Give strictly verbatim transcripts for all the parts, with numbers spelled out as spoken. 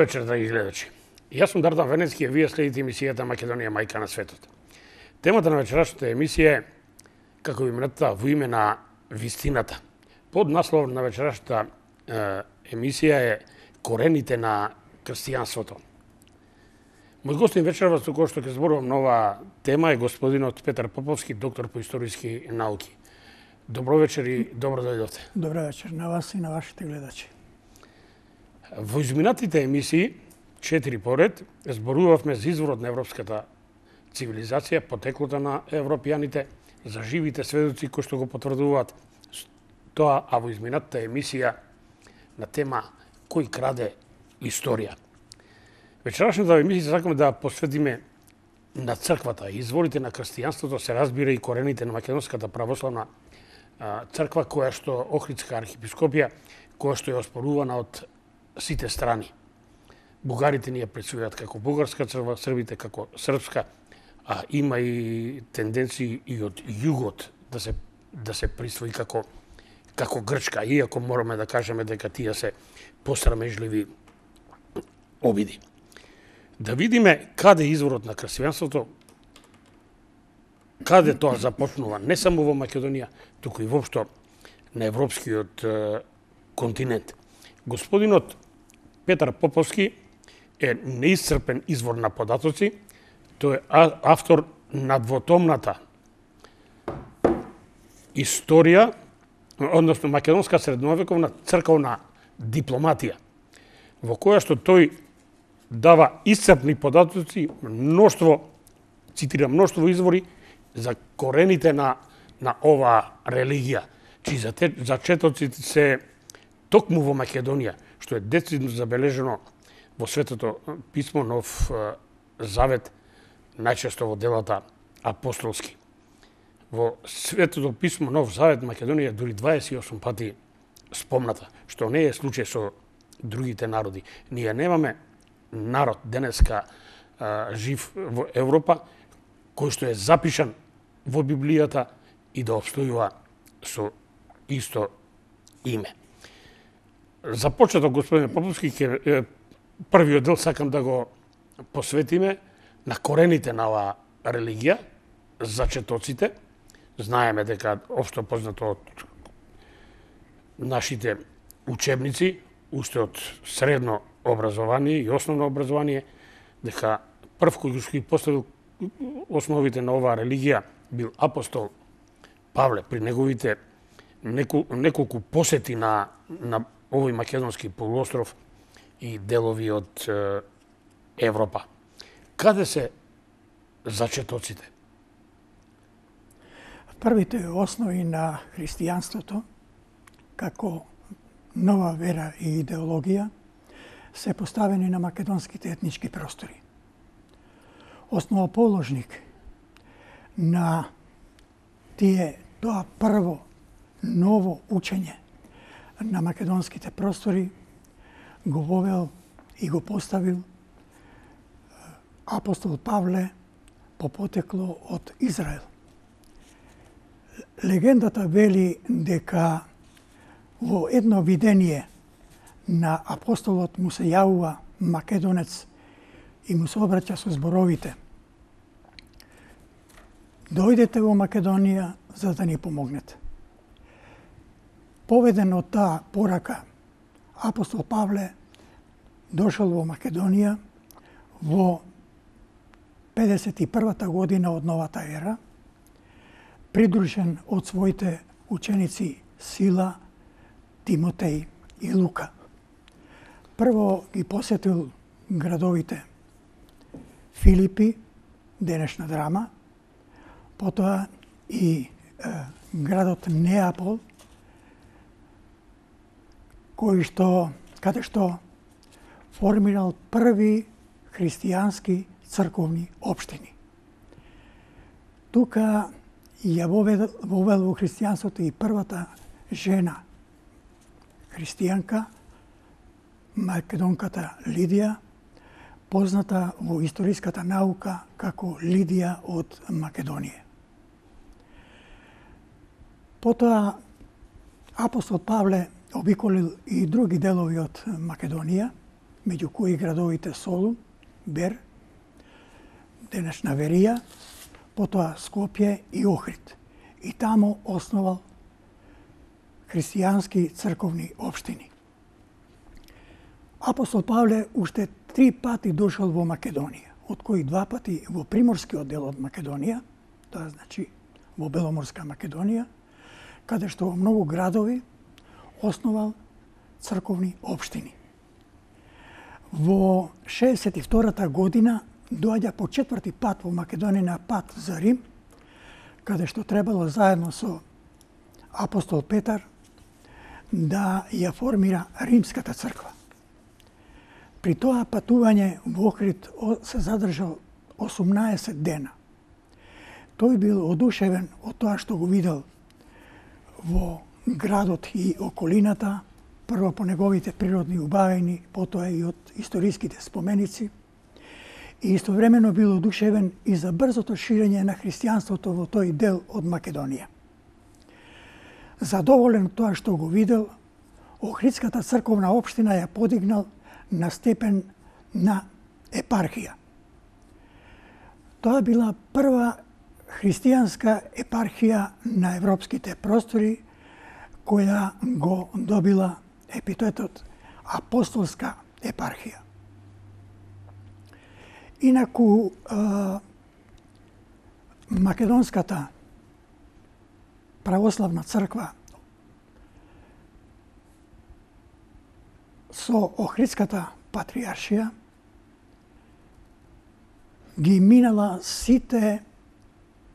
вечер, драги гледачи. Јас сум Дардан Венецки, и вие следите емисијата Македонија мајка на светот. Темата на вечерашната емисија е, како имената, во име на вистината. Под наслов на вечерашната е, емисија е Корените на христијанството. Мој гостин вечерва, со кој што ќе зборувам на оваа тема, е господинот Петар Поповски, доктор по историски науки. Добро вечер и добро дојдовте. Добро вечер на вас и на вашите гледачи. Во изминатите емисии, четири поред, зборувавме за изворот на европската цивилизација, потеклото на европјаните, за живите сведоци кои што го потврдуваат тоа, а во изминатата емисија на тема кој краде историја. Вечерашната емисија сакаме да посветиме на црквата. Изворите на христијанството се разбира и корените на македонската православна црква, која што Охридска архиепископија, која што е оспорувана од сите страни. Бугарите ни ја представуваат како бугарска црква, србите како српска, а има и тенденции и од југот да се да се присвои како како грчка, иако мораме да кажеме дека тие се посрамежливи обиди. Да видиме каде е изворот на христијанството, каде тоа започнува, не само во Македонија, туку и воопшто на европскиот е, континент. Господинот Петар Поповски е неисцрпен извор на податоци. Тој е автор на двотомната историја, односно македонска средновековна црковна дипломатија, во која што тој дава iscrpни податоци, мноштво, цитирам, мноштво извори за корените на на оваа религија, чии зачетоците се токму во Македонија, што е децидно забележено во Светото писмо, Нов Завет, најчесто во делата апостолски. Во Светото писмо, Нов Завет, Македонија дури дваесет и осум пати спомната, што не е случај со другите народи. Ние немаме народ денеска а, жив во Европа, кој што е запишан во Библијата и да обстојува со исто име. За почеток, господин Поповски, ке, првиот дел сакам да го посветиме на корените на оваа религија, зачетоците. Знаеме дека општо познато од нашите учебници, уште од средно образование и основно образование, дека прв кој што ги поставил основите на оваа религија бил апостол Павле при неговите неколку, неколку посети на, на овој македонски полуостров и делови од е, Европа. Каде се зачетоците? Првите основи на христијанството, како нова вера и идеологија, се поставени на македонските етнички простори. Основоположник на тие тоа прво ново учење на македонските простори го вовел и го поставил апостол Павле по потекло од Израел. Легендата вели дека во едно видение на апостолот му се јавува македонец и му се обраќа со зборовите: дојдете во Македонија за да ни помогнете. Поведен од таа порака, апостол Павле дошол во Македонија во педесет и првата година од новата ера, придружен од своите ученици Сила, Тимотеј и Лука. Прво ги посетил градовите Филипи, денешна Драма, потоа и е, градот Неапол, кој што, каде што формирал први христијански црковни општини. Тука ја вовел, вовел во христијанството и првата жена христијанка, македонката Лидија, позната во историската наука како Лидија од Македонија. Потоа апостол Павле обиколил и други делови од Македонија меѓу кои градовите Солун, Бер, денешна Верија, потоа Скопје и Охрид. И таму основал христијански црковни општини. Апостол Павле уште три пати дошол во Македонија, од кои два пати во приморскиот дел од Македонија, тоа значи во Беломорска Македонија, каде што во многу градови основал црковни општини. Во шеесет и втората година доаѓа по четврти пат во Македонија на пат за Рим, каде што требало заедно со апостол Петар да ја формира Римската црква. При тоа патување во Охрид се задржал осумнаесет дена. Тој бил одушевен од тоа што го видел во градот и околината, прво по неговите природни убавини, потоа и од историските споменици, и истовремено бил одушевен и за брзото ширење на христијанството во тој дел од Македонија. Задоволен тоа што го видел, Охридската црковна општина ја подигнал на степен на епархија. Тоа била прва христијанска епархија на европските простори, која го добила епитетот апостолска епархија. Инаку, Македонската православна црква со Охридската патријаршија ги минала сите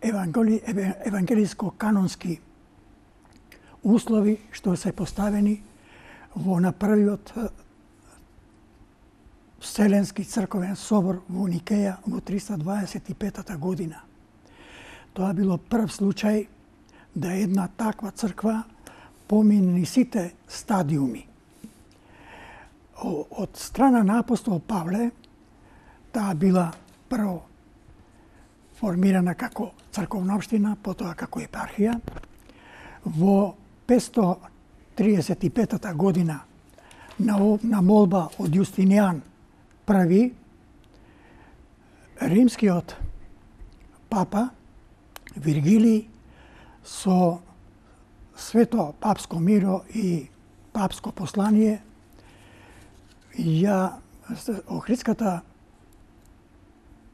евангели, евангелиско-канонски услови што се поставени во на првиот Вселенски црковен собор во Никеја во триста дваесет и петата година. Тоа било прв случај да една таква црква помине сите стадиуми. Од страна на апостол Павле, таа била прво формирана како црковна општина, потоа како епархија. Во петстотини триесет и петата година на, на молба од Јустинијан први, римскиот папа Виргилиј со свето папско миро и папско послание ја Охридската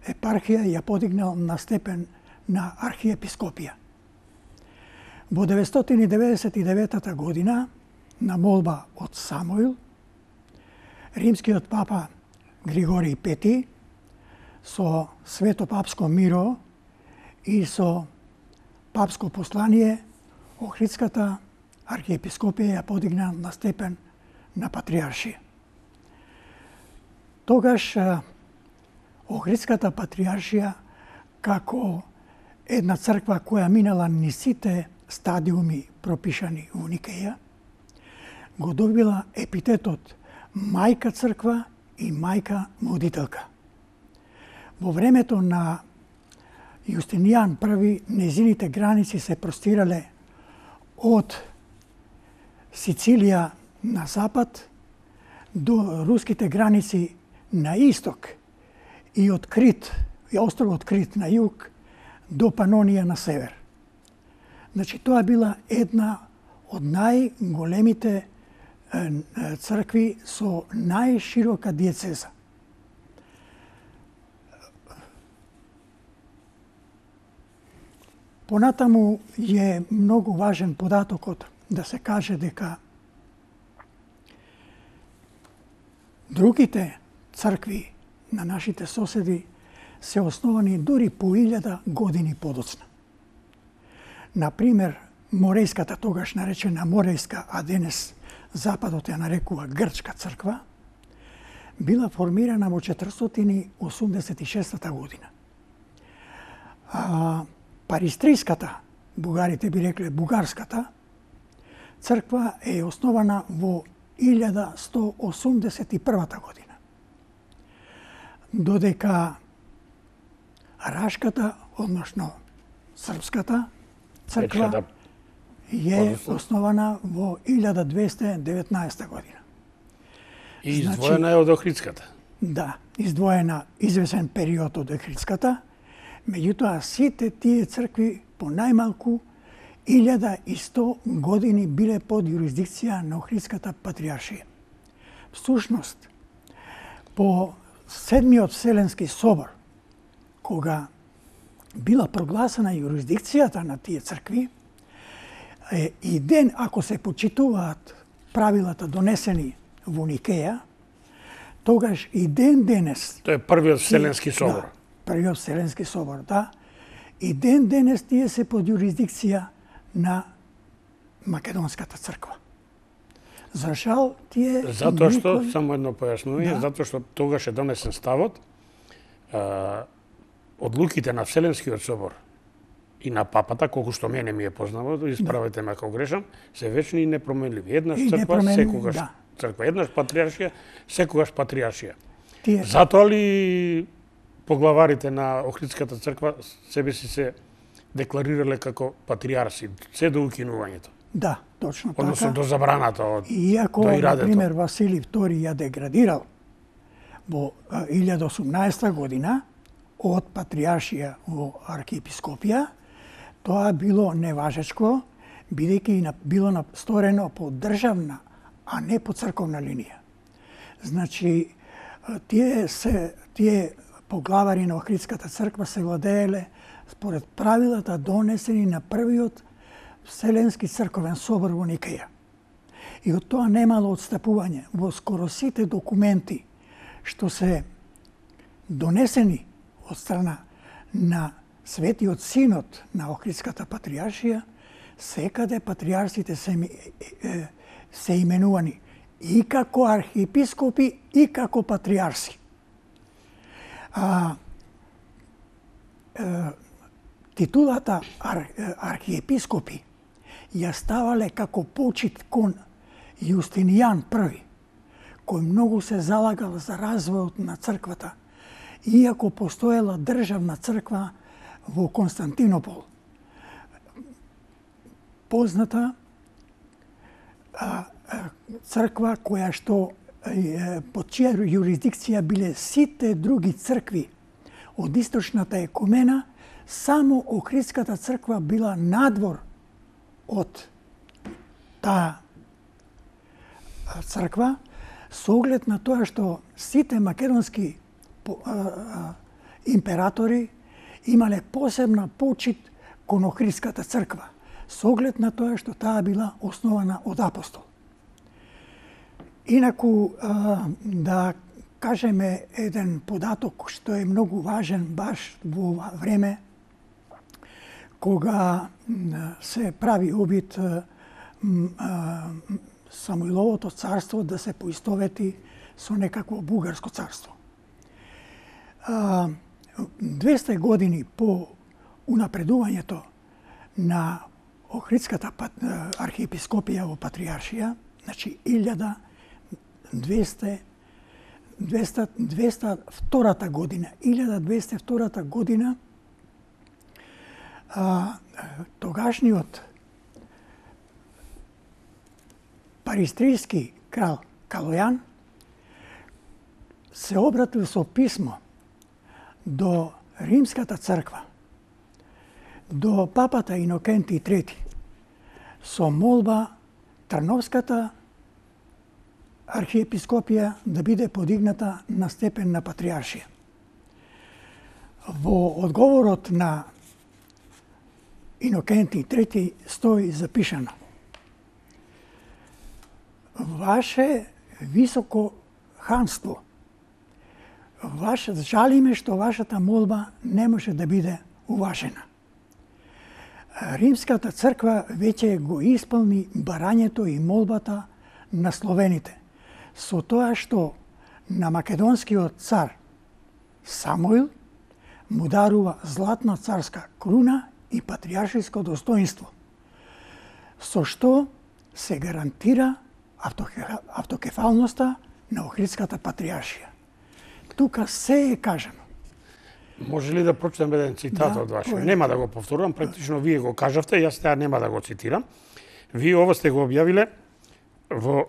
епархија ја подигнал на степен на архиепископија. Во деветстотини деветдесет и деветата година, на молба од Самуил, римскиот папа Григорий Пети со свето папско миро и со папско послание Охридската архиепископија ја подигна на степен на патријаршија. Тогаш Охридската патријаршија како една црква која минала ни сите стадиуми пропишани во Никеја, го добила епитетот мајка црква и мајка водителка. Во времето на Јустинијан први, незините граници се простирале од Сицилија на запад до руските граници на исток и од Крит, и островот Крит на југ до Панонија на север. Значи, тоа била една од најголемите цркви со најширока диецеза. Понатаму е многу важен податокот да се каже дека другите цркви на нашите соседи се основани дури по илјада години подоцна. Например, Морејската, тогаш наречена Морејска, а денес Западот ја нарекува Грчка црква, била формирана во четиристотини осумдесет и шестата година. А Паристриската, бугарите би рекле Бугарската, црква е основана во илјада сто осумдесет и првата година. Додека Рашката, односно Српската црква е основана во илјада двесте деветнаесета година. И издвоена е од Охридската. Да, издвоена извесен период од Охридската. Меѓутоа, сите тие цркви по најмалку илјада и сто години биле под јурисдикција на Охридската патријаршија. Всушност, по Седмиот Вселенски собор, кога била прогласена јурисдикцијата на тие цркви, е, и ден ако се почитуваат правилата донесени во Никеја, тогаш и ден денес... Тоа е првиот Вселенски собор. Да, првиот Вселенски собор, да. И ден денес тие се под јурисдикција на Македонската црква. За жал, тие... Затоа што, никој... само едно појаснување, да. Затоа што тогаш е донесен ставот, а, одлуките на Вселенскиот собор и на папата, колку што мене ми е познато, исправете ме ако грешам, се вечни и непроменливи. Еднаш и црква, секогаш да. црква. Еднаш патријаршија, секогаш патријаршија. Тие... Затоа ли поглаварите на Охридската црква себе си се декларирале како патријарси, се до укинувањето? Да, точно така. Односно до забраната од Иако, до ирадето. например, Василий втори ја деградирал во илјада осумнаесета година од патријаршија во архиепископија, тоа било неважечко, бидејќи било сторено по државна, а не по црковна линија. Значи, тие се тие поглавари на Охридската црква се владееле според правилата донесени на првиот Вселенски црковен собор во Никеја. И од тоа немало отстапување. Во скоро сите документи што се донесени од страна на Светиот Синод на Охридската патријаршија, секаде патријарсите се, се именувани и како архиепископи и како патријарси. А, е, титулата ар, архиепископи ја ставале како почит кон Јустинијан први, кој многу се залагал за развојот на црквата, иако постоела државна црква во Константинопол. Позната а, а, црква која што е, под чија јурисдикција биле сите други цркви од источната екумена, само Охридската црква била надвор од таа црква, со оглед на тоа што сите македонски императори имале посебна почит кон Охридската црква, со оглед на тоа што таа била основана од апостол. Инаку, да кажеме еден податок што е многу важен баш во ова време, кога се прави обид Самуиловото царство да се поистовети со некакво бугарско царство. двесте години по унапредувањето на Охридската архиепископија во патријаршија, значи илјада двесте и втората година, илјада двесте и втората година, а, тогашниот паристрийски крал Калојан се обратил со писмо до Римската црква, до папата Инокенти трети, со молба Трновската архиепископија да биде подигната на степен на патријаршија. Во одговорот на Инокенти трети стои запишано: Ваше високо ханство, ваше, жалиме што вашата молба не може да биде уважена. Римската црква веќе го исполни барањето и молбата на словените, со тоа што на македонскиот цар Самуил му дарува златна царска круна и патријаршиско достоинство, со што се гарантира автокефалноста на Охридската патријаршија. Тука се е кажано. Може ли да прочитам еден цитат Да, од ваше? кој е? Нема да го повторувам, практично вие го кажавте, јас теа нема да го цитирам. Вие ова сте го објавиле во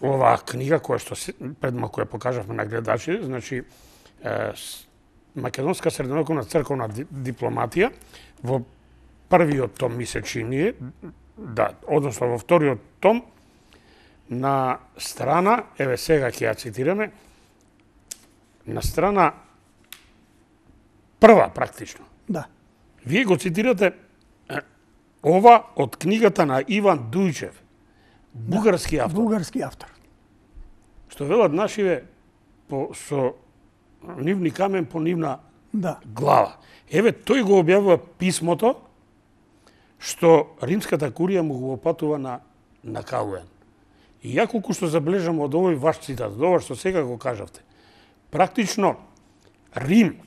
оваа книга која што пред малку ја покажавме на гледачи, значи Македонска средновековна црковна дипломатија во првиот том ми се чини, да, односно во вториот том на страна, еве сега ќе ја цитираме, на страна прва практично. Да. Вие го цитирате ова од книгата на Иван Дујчев, бугарски автор. Бугарски автор. Што велат нашиве по, со нивни камен по нивна да. глава. Еве, тој го објавува писмото што римската курија му го опатува на, на Калуен. И ја колку што забележам од овој ваш цитат, од ова што сега го кажавте, практично Рим,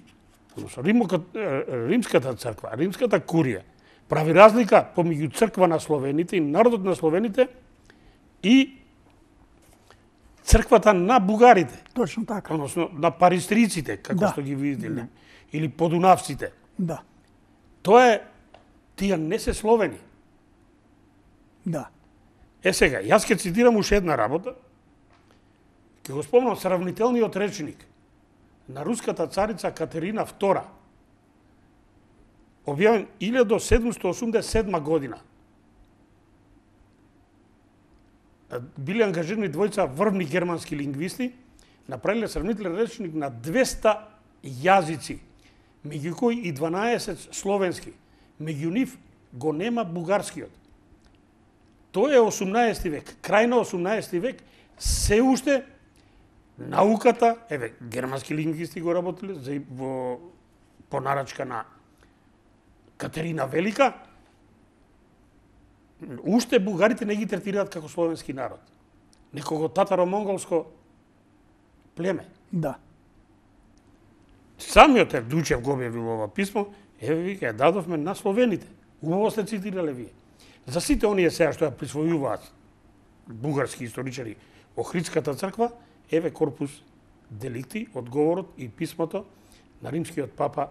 римската црква, римската курија, прави разлика помеѓу црква на словените и народот на словените и црквата на бугарите. Точно така. Односно на паристриците, како да. што ги видите, да. Или подунавците. Да. Тоа е, тие не се словени. Да. Е сега, јас ќе цитирам уште една работа, ќе го спомнам сравнителниот речник на руската царица Катерина втора, објавен илјада седумстотини осумдесет и седма година. Били ангажирани двојца врвни германски лингвисти, направиле сравнителен речник на двеста јазици, меѓу кои и дванаесет словенски. Меѓу нив го нема бугарскиот. Тоа е осумнаесети век, крај на осумнаесети век, се уште науката, еве, германски лингвисти го работеле за во понарачка на Катерина Велика, уште бугарите не ги третираат како словенски народ. Некого татаро-монголско племе. Да. Самиот Евдучев го објавил ова писмо, еве ви ја дадовме на словените. Убаво сте цитирале вие. За сите оние сега што ја присвојуваат бугарски историчари Охридската црква, еве корпус деликти, одговорот и писмото на римскиот папа,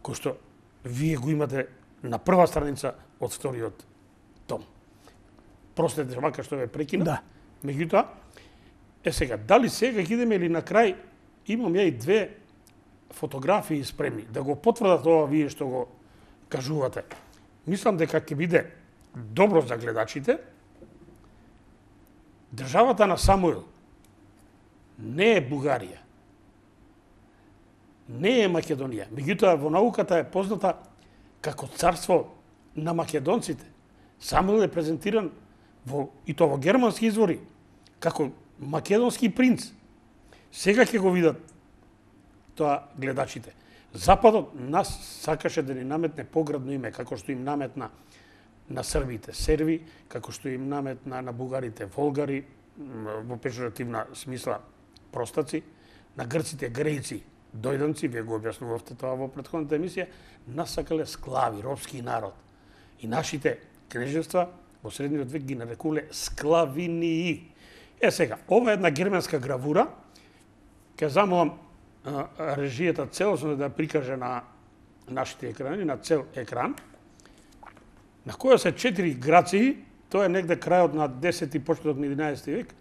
кој што вие го имате на прва страница од вториот том. Простете вака што ве прекина. Да. Меѓутоа, е сега, дали сега ќе идеме или на крај, имам ја и две фотографии спремни, да го потврдат ова вие што го кажувате. Мислам дека ќе биде добро за гледачите. Државата на Самуил не е Бугарија, не е Македонија. Меѓутоа, во науката е позната како царство на македонците. Самуил е презентиран во, и тоа во германски извори, како македонски принц. Сега ќе го видат тоа гледачите. Западот нас сакаше да ни наметне поградно име, како што им наметна на србите серви, како што им наметна на бугарите волгари, во пежоративна смисла простаци, на грците грејци, дојданци, вие го објаснувавте тоа во претходната емисија, нас сакале склави, робски народ. И нашите кнежества во средниот век ги нарекувале склавинии. Е сега, ова е една германска гравура, ќе замолам режијата целосно да ја прикаже на нашите екрани, на цел екран, на која се четири граци, тоа е негде крајот на десети, почеток на единаесети век,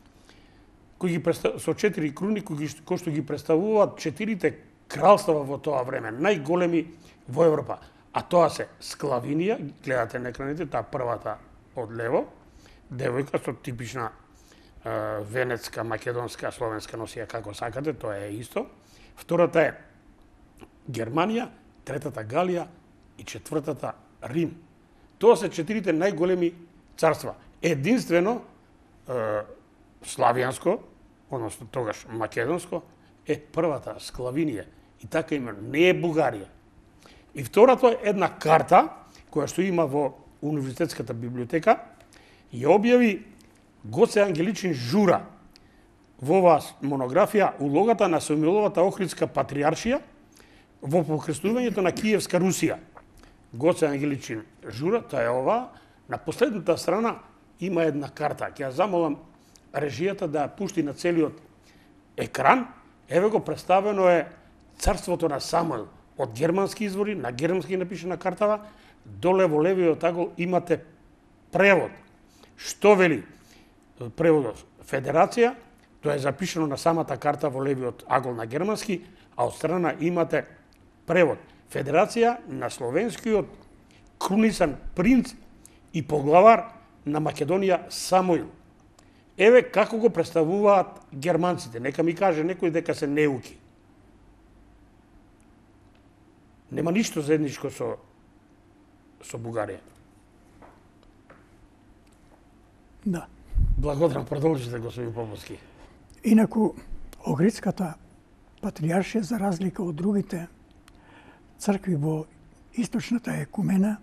кои ги со четири круни, кои, кои што ги представуваат четирите кралства во тоа време, најголеми во Европа. А тоа се Склавинија, гледате на екраните, таа првата од лево, девојка со типична е, венецка, македонска, словенска носија, како сакате, тоа е исто. Втората е Германија, третата Галија и четвртата Рим. Тоа се четирите најголеми царства. Единствено е, славијанско, односно тогаш македонско, е првата Склавинија. И така има, не е Бугарија. И второто е една карта, која што има во Универзитетската библиотека, ја објави Гоце Ангеличин Жура во оваа монографија улогата на Самуиловата Охридска патриаршија во покрстувањето на Киевска Русија. Гоце Ангеличин Жура, тоа е ова, на последната страна има една карта. Ќе ја замолам режијата да ја пушти на целиот екран. Еве го представено е царството на Самуил од германски извори, на германски напишена картава, доле во левиот агол имате превод. Што вели? преводот федерација, тоа е запишано на самата карта во левиот агол на германски, а од страна имате превод федерација на словенскиот крунисан принц и поглавар на Македонија Самуил. Еве како го представуваат германците. Нека ми каже некој дека се неуки. Нема ништо заедничко со со Бугарија. Да. Благодарам, продолжите, господин Поповски. Инаку, Охридската патријаршија, за разлика од другите цркви во источната екумена,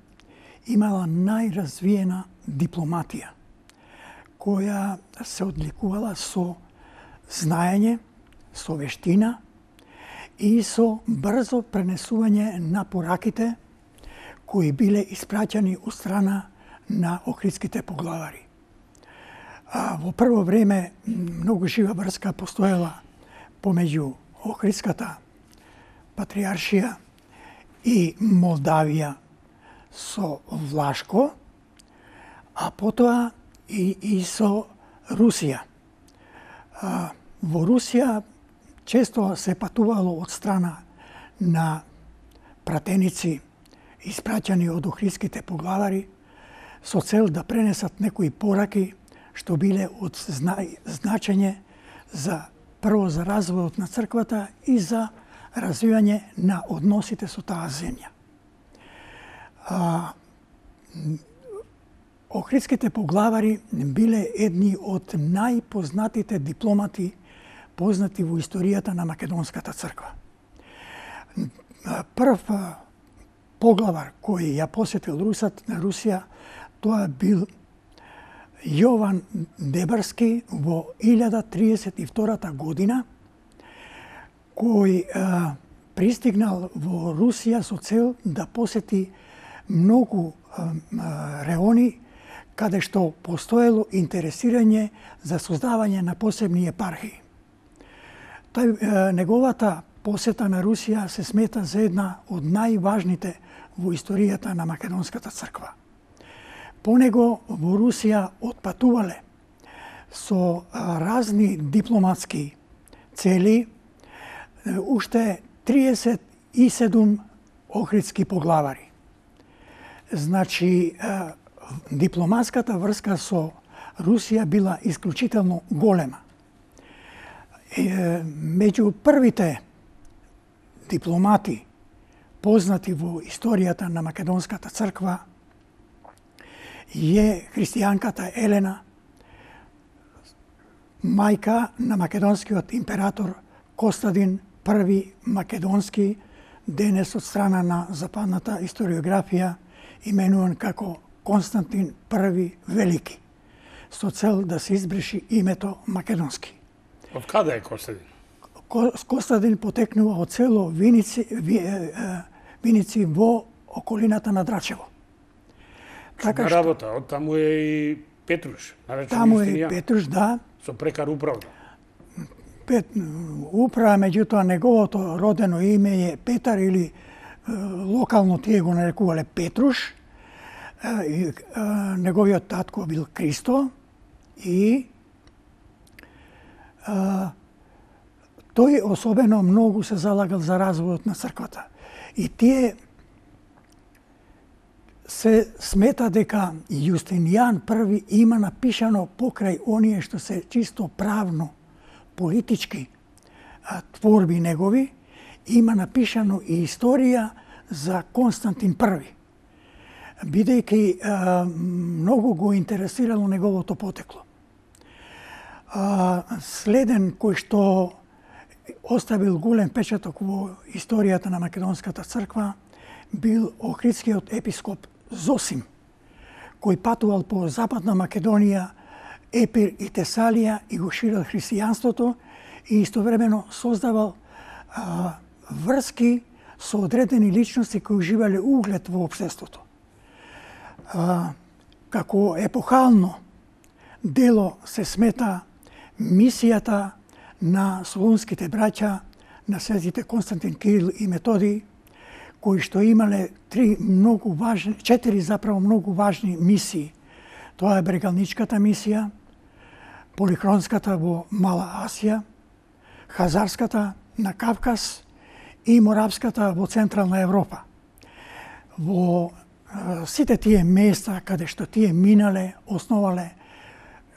имала најразвиена дипломатија, која се одликувала со знаење, со вештина и со брзо пренесување на пораките кои биле испраќани од страна на охридските поглавари. А, во прво време многу жива врска постоела помеѓу Охридската патријаршија и Молдавија со Влашко, а потоа и, и со Русија. А, во Русија често се патувало од страна на пратеници испраќани од охридските поглавари со цел да пренесат некои пораки што биле од зна... значење за прво за развојот на црквата и за развивање на односите со таа земја. А, Охридските поглавари биле едни од најпознатите дипломати познати во историјата на Македонската црква. Прв поглавар кој ја посетил Русат на Русија, тоа бил Јован Дебарски во илјада триесет и втората година, кој а, пристигнал во Русија со цел да посети многу а, реони каде што постоело интересирање за создавање на посебни епархии. Тај, а, неговата посета на Русија се смета за една од најважните во историјата на Македонската црква. По него во Русија отпатувале со разни дипломатски цели уште триесет и седум охридски поглавари. Значи, дипломатската врска со Русија била исклучително голема. Меѓу првите дипломати познати во историјата на Македонската црква е христијанката Елена, мајка на македонскиот император Костадин први Македонски, денес од страна на западната историографија именуван како Константин први Велики, со цел да се избриши името Македонски. Од каде е Костадин? Костадин потекнува од село Виници, Виници во околината на Драчево. Така што работа, од таму е и Петруш, наречен таму е Петруш, да. Со прекар управа. Пет, управа, меѓутоа неговото родено име е Петар или локално тие го нарекувале Петруш. И, неговиот татко бил Кристо и а, тој особено многу се залагал за развојот на црквата. И тие се смета дека Јустинијан први има напишано покрај оние што се чисто правно, политички а, творби негови, има напишано и историја за Константин први. Бидејќи а, многу го интересирало неговото потекло. А, следен кој што оставил голем печаток во историјата на Македонската црква бил охридскиот епископ Зосим, кој патувал по Западна Македонија, Епир и Тесалија и го ширил христијанството и истовремено создавал а, врски со одредени личности кои уживале углед во општеството. А, како епохално дело се смета мисијата на солунските браќа, на светите Константин, Кирил и Методий, кои што имале три многу важни, четири заправо многу важни мисии. Тоа е брегалничката мисија, полихронската во Мала Асија, хазарската на Кавказ и моравската во Централна Европа. Во сите тие места каде што тие минале, основале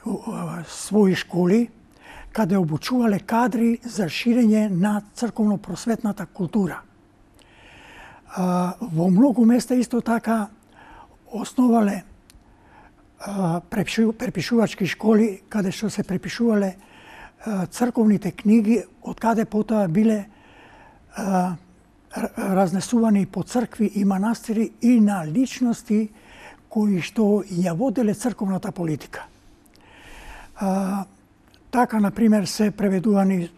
своји школи, каде обучувале кадри за ширење на црковно-просветната култура. Во многу места исто така основале препишувачки школи, каде што се препишувале црковните книги, од каде потоа биле разнесувани по цркви и манастири и на личности кои што ја воделе црковната политика. А, така, например, се преведувани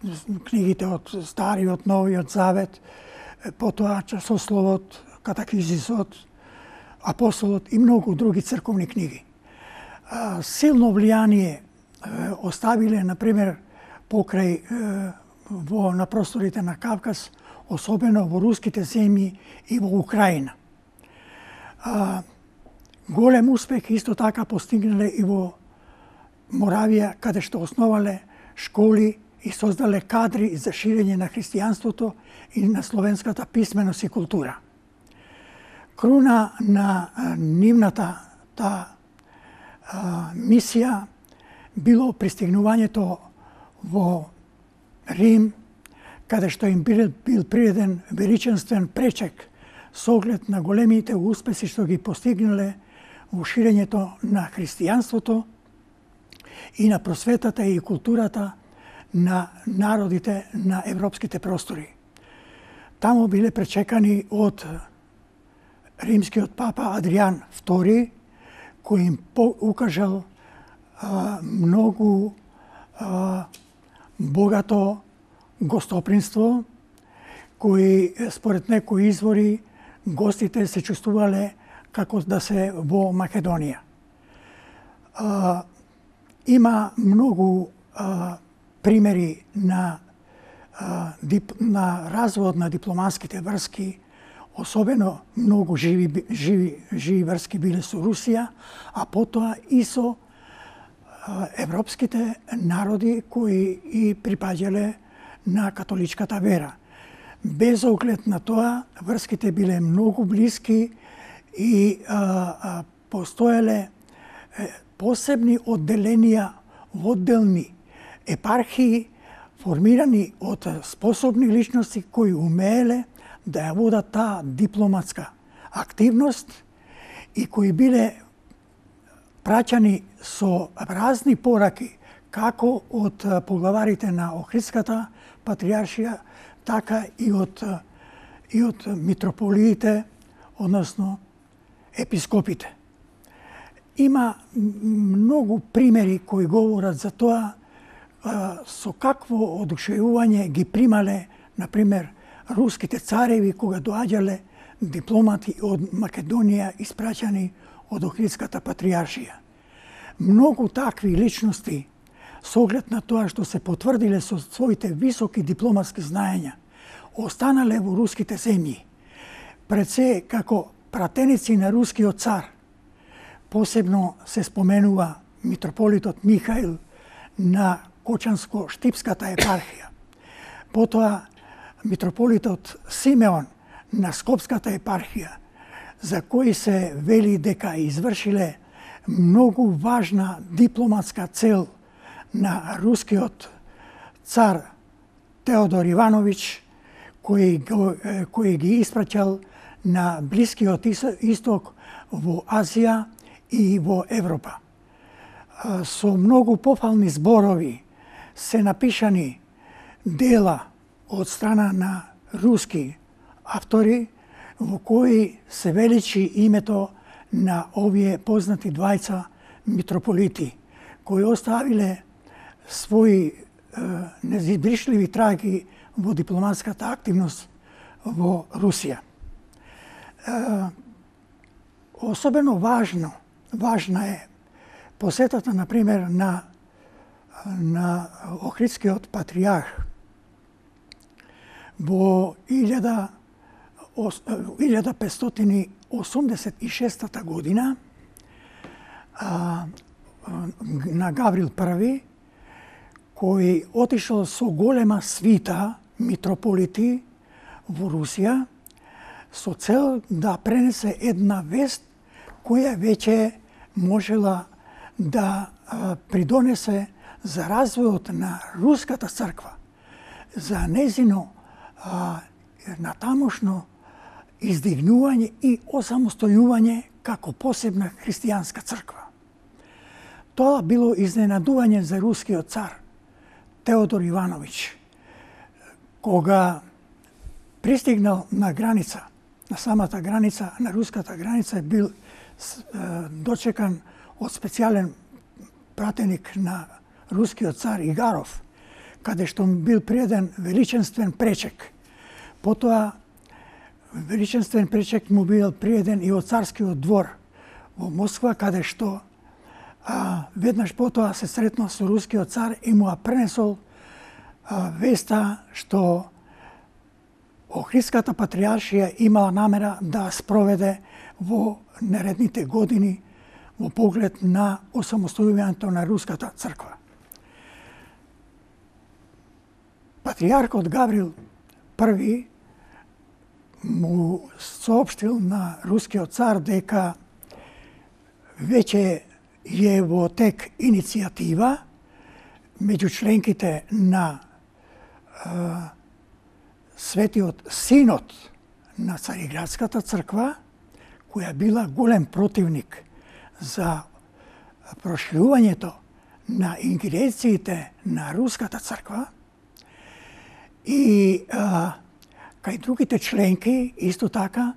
книгите од Стариот, Новиот Завет, потоа Часословот, Катехизисот, Апостолот и многу други црковни книги. А, силно влијание оставиле, например, покрај во на просторите на Кавказ, особено во руските земји и во Украина. А, голем успех исто така постигнале и во Моравија, каде што основале школи и создале кадри за ширење на христијанството и на словенската писменост и култура. Круна на нивната та а, мисија било пристигнувањето во Рим, каде што им бил, бил приреден величенствен пречек со оглед на големите успеси што ги постигнале во ширењето на христијанството и на просветата и културата на народите на европските простори. Таму биле пречекани од римскиот папа Адријан втори, кој им укажал а, многу а, богато гостопринство, кои според некои извори гостите се чувствувале како да се во Македонија. А, има многу а, примери на, а, дип, на развод на дипломатските врски, особено многу живи, живи, живи врски биле со Русија, а потоа и со а, европските народи кои и припаѓале на католичката вера. Без оглед на тоа, врските биле многу блиски и а, а, постоеле е, посебни одделенија во одделни епархии, формирани од способни личности кои умееле да ја водат таа дипломатска активност и кои биле праќани со разни пораки како од поглаварите на Охридската патријаршија, така и од, и од митрополиите, односно епископите. Има многу примери кои говорат за тоа со какво одушевување ги примале, например, руските цареви кога доаѓале дипломати од Македонија испраќани од Охридската патријаршија. Многу такви личности, со оглед на тоа што се потврдиле со своите високи дипломатски знаења, останале во руските земји, пред се како пратеници на рускиот цар. Посебно се споменува митрополитот Михаил на Кочанско-Штипската епархија. Потоа митрополитот Симеон на Скопската епархија, за кои се вели дека извршиле многу важна дипломатска цел на рускиот цар Теодор Ивановиќ, кој, кој ги испраќал на Блискиот исток, во Азија и во Европа. Со многу пофални зборови се напишани дела од страна на руски автори, во кои се величи името на овие познати двајца митрополити, кои оставиле своји е, незабришливи траги во дипломатската активност во Русија. Е, особено важно, важна е посетата, например, на, на Охридскиот патријарх во илјада петстотини осумдесет и шеста година а, на Гаврил први, кој отишол со голема свита митрополити во Русија со цел да пренесе една вест која веќе можела да придонесе за развојот на руската црква, за незино натамошно издигнување и осамостојување како посебна христијанска црква. Тоа било изненадување за рускиот цар Теодор Ивановиќ, кога пристигнал на граница, на самата граница, на руската граница, бил дочекан од специјален пратеник на рускиот цар Игаров, каде што бил преден величенствен пречек. Потоа величенствен пречек му бил преден и од царскиот двор во Москва, каде што а, веднаш потоа се сретнал со рускиот цар и му пренесол а, веста што Охридската патријаршија имала намера да спроведе во наредните години во поглед на осамостојувањето на руската црква. Патријаркот Гаврил Први му соопштил на рускиот цар дека веќе е во тек иницијатива меѓу членките на е, Светиот Синод на Цариградската црква, која била голем противник за проширувањето на ингеренциите на руската црква, и а, кај другите членки исто така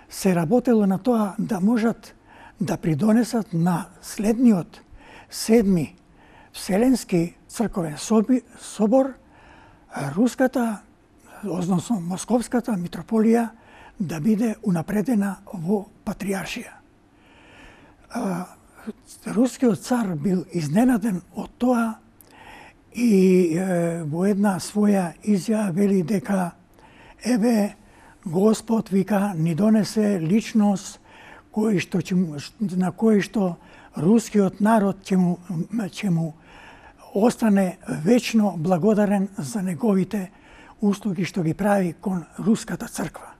се работело на тоа да можат да придонесат на следниот седми Вселенски црковен собор руската, односно Московската митрополија да биде унапредена во патријаршија. Рускиот цар бил изненаден од тоа и е, во една своја изјава вели дека еве Господ, вика, ни донесе личност кој што на кој што рускиот народ ќе му, ќе му остане вечно благодарен за неговите услуги што ги прави кон руската црква.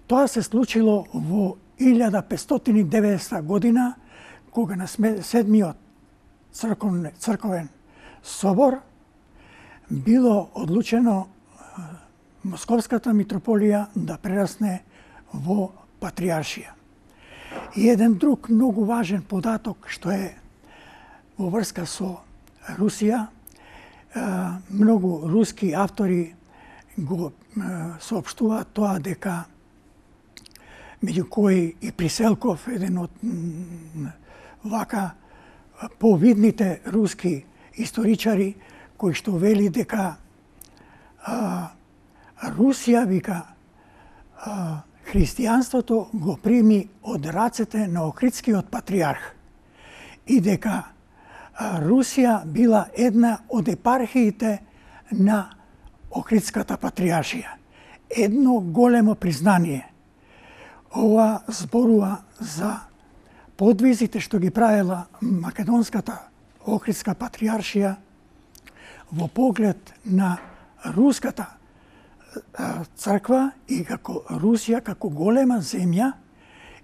Тоа се случило во илјада петстотини и деветдесета година, кога на седмиот црковен, црковен собор било одлучено Московската митрополија да прерасне во патријаршија. И еден друг многу важен податок што е во врска со Русија, многу руски автори го соопштуваат тоа дека меѓу кои и Приселков, еден од вака повидните руски историчари, кој што вели дека а, Русија, вика, а, христијанството го прими од рацете на Охридскиот патријарх и дека а, Русија била една од епархиите на Охридската патријаршија. Едно големо признание. Ова зборува за подвизите што ги правила Македонската Охридска патријаршија во поглед на руската црква и како Русија како голема земја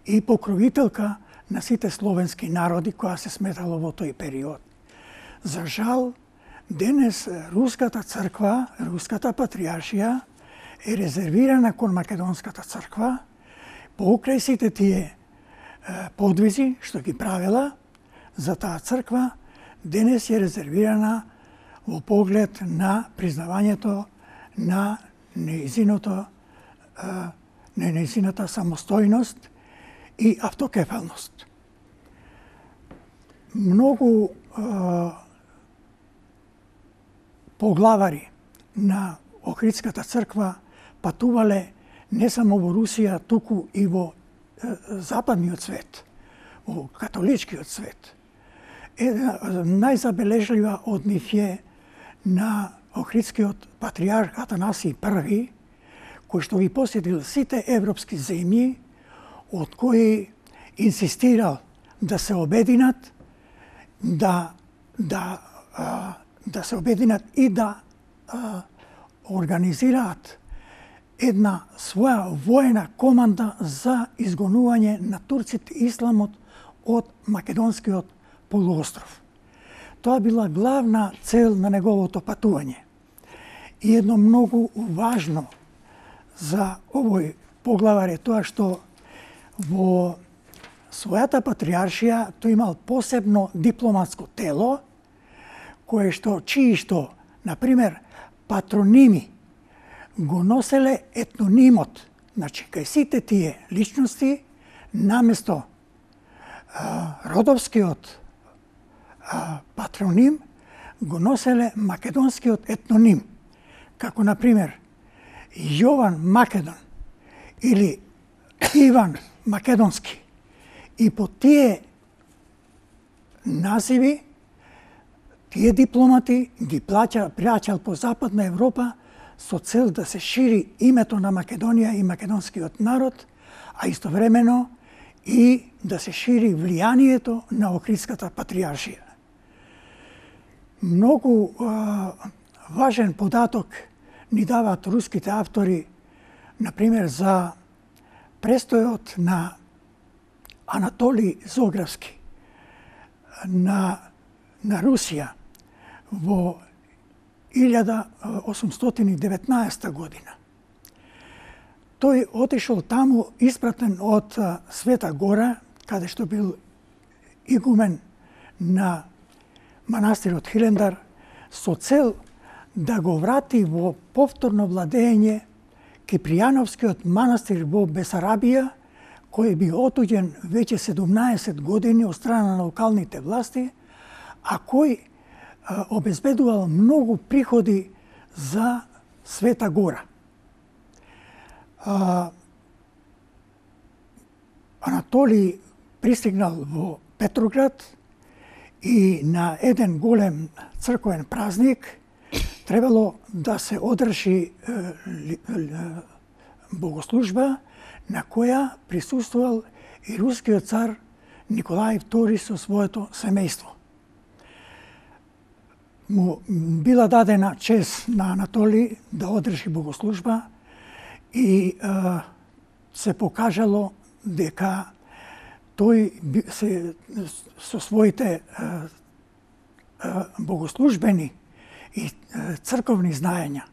и покровителка на сите словенски народи која се сметало во тој период. За жал, денес руската црква, руската патријаршија е резервирана кон Македонската црква покрај сите тие подвизи што ги правила за таа црква, денес е резервирана во поглед на признавањето на нејзиното, на нејзината самостојност и автокефалност. Многу а, поглавари на Охридската црква патувале не само во Русија, туку и во а, западниот свет, во католичкиот свет. Една најзабележлива од нив е на Охридскиот патријарх Атанасиј Први, кој што ги посетил сите европски земји, од кои инсистирал да се обединат, да, да а, да се обединат и да а, организираат една своја воена команда за изгонување на турците и исламот од Македонскиот полуостров. Тоа била главна цел на неговото патување. И едно многу важно за овој поглавар е тоа што во својата патриаршија тој имал посебно дипломатско тело, кое што, чии што, например, патроними го носеле етнонимот. Значи, кај сите тие личности, наместо а, родовскиот а, патроним, го носеле македонскиот етноним. Како, например, Јован Македон или Иван Македонски. И по тие називи, тие дипломати ги плаќа, плаќал по Западна Европа со цел да се шири името на Македонија и македонскиот народ, а истовремено и да се шири влијанието на Охридската патриаршија. Многу а, важен податок ни даваат руските автори, например, за престојот на Анатолий Зографски на, на Русија во илјада осумстотини и деветнаесета година. Тој отишол таму испратен од Света Гора, каде што бил игумен на манастирот Хилендар, со цел да го врати во повторно владење Кипријановскиот манастир во Бесарабија, кој би отуѓен веќе седумнаесет години од страна на локалните власти, а кој а, обезбедувал многу приходи за Света Гора. А, Анатолий пристигнал во Петроград и на еден голем црковен празник требало да се одржи богослужба на која присуствувал и рускиот цар Николај втори со своето семејство. Му била дадена чест на Анатолий да одржи богослужба и е, се покажало дека тој се, со своите е, е, богослужбени и црковни знаења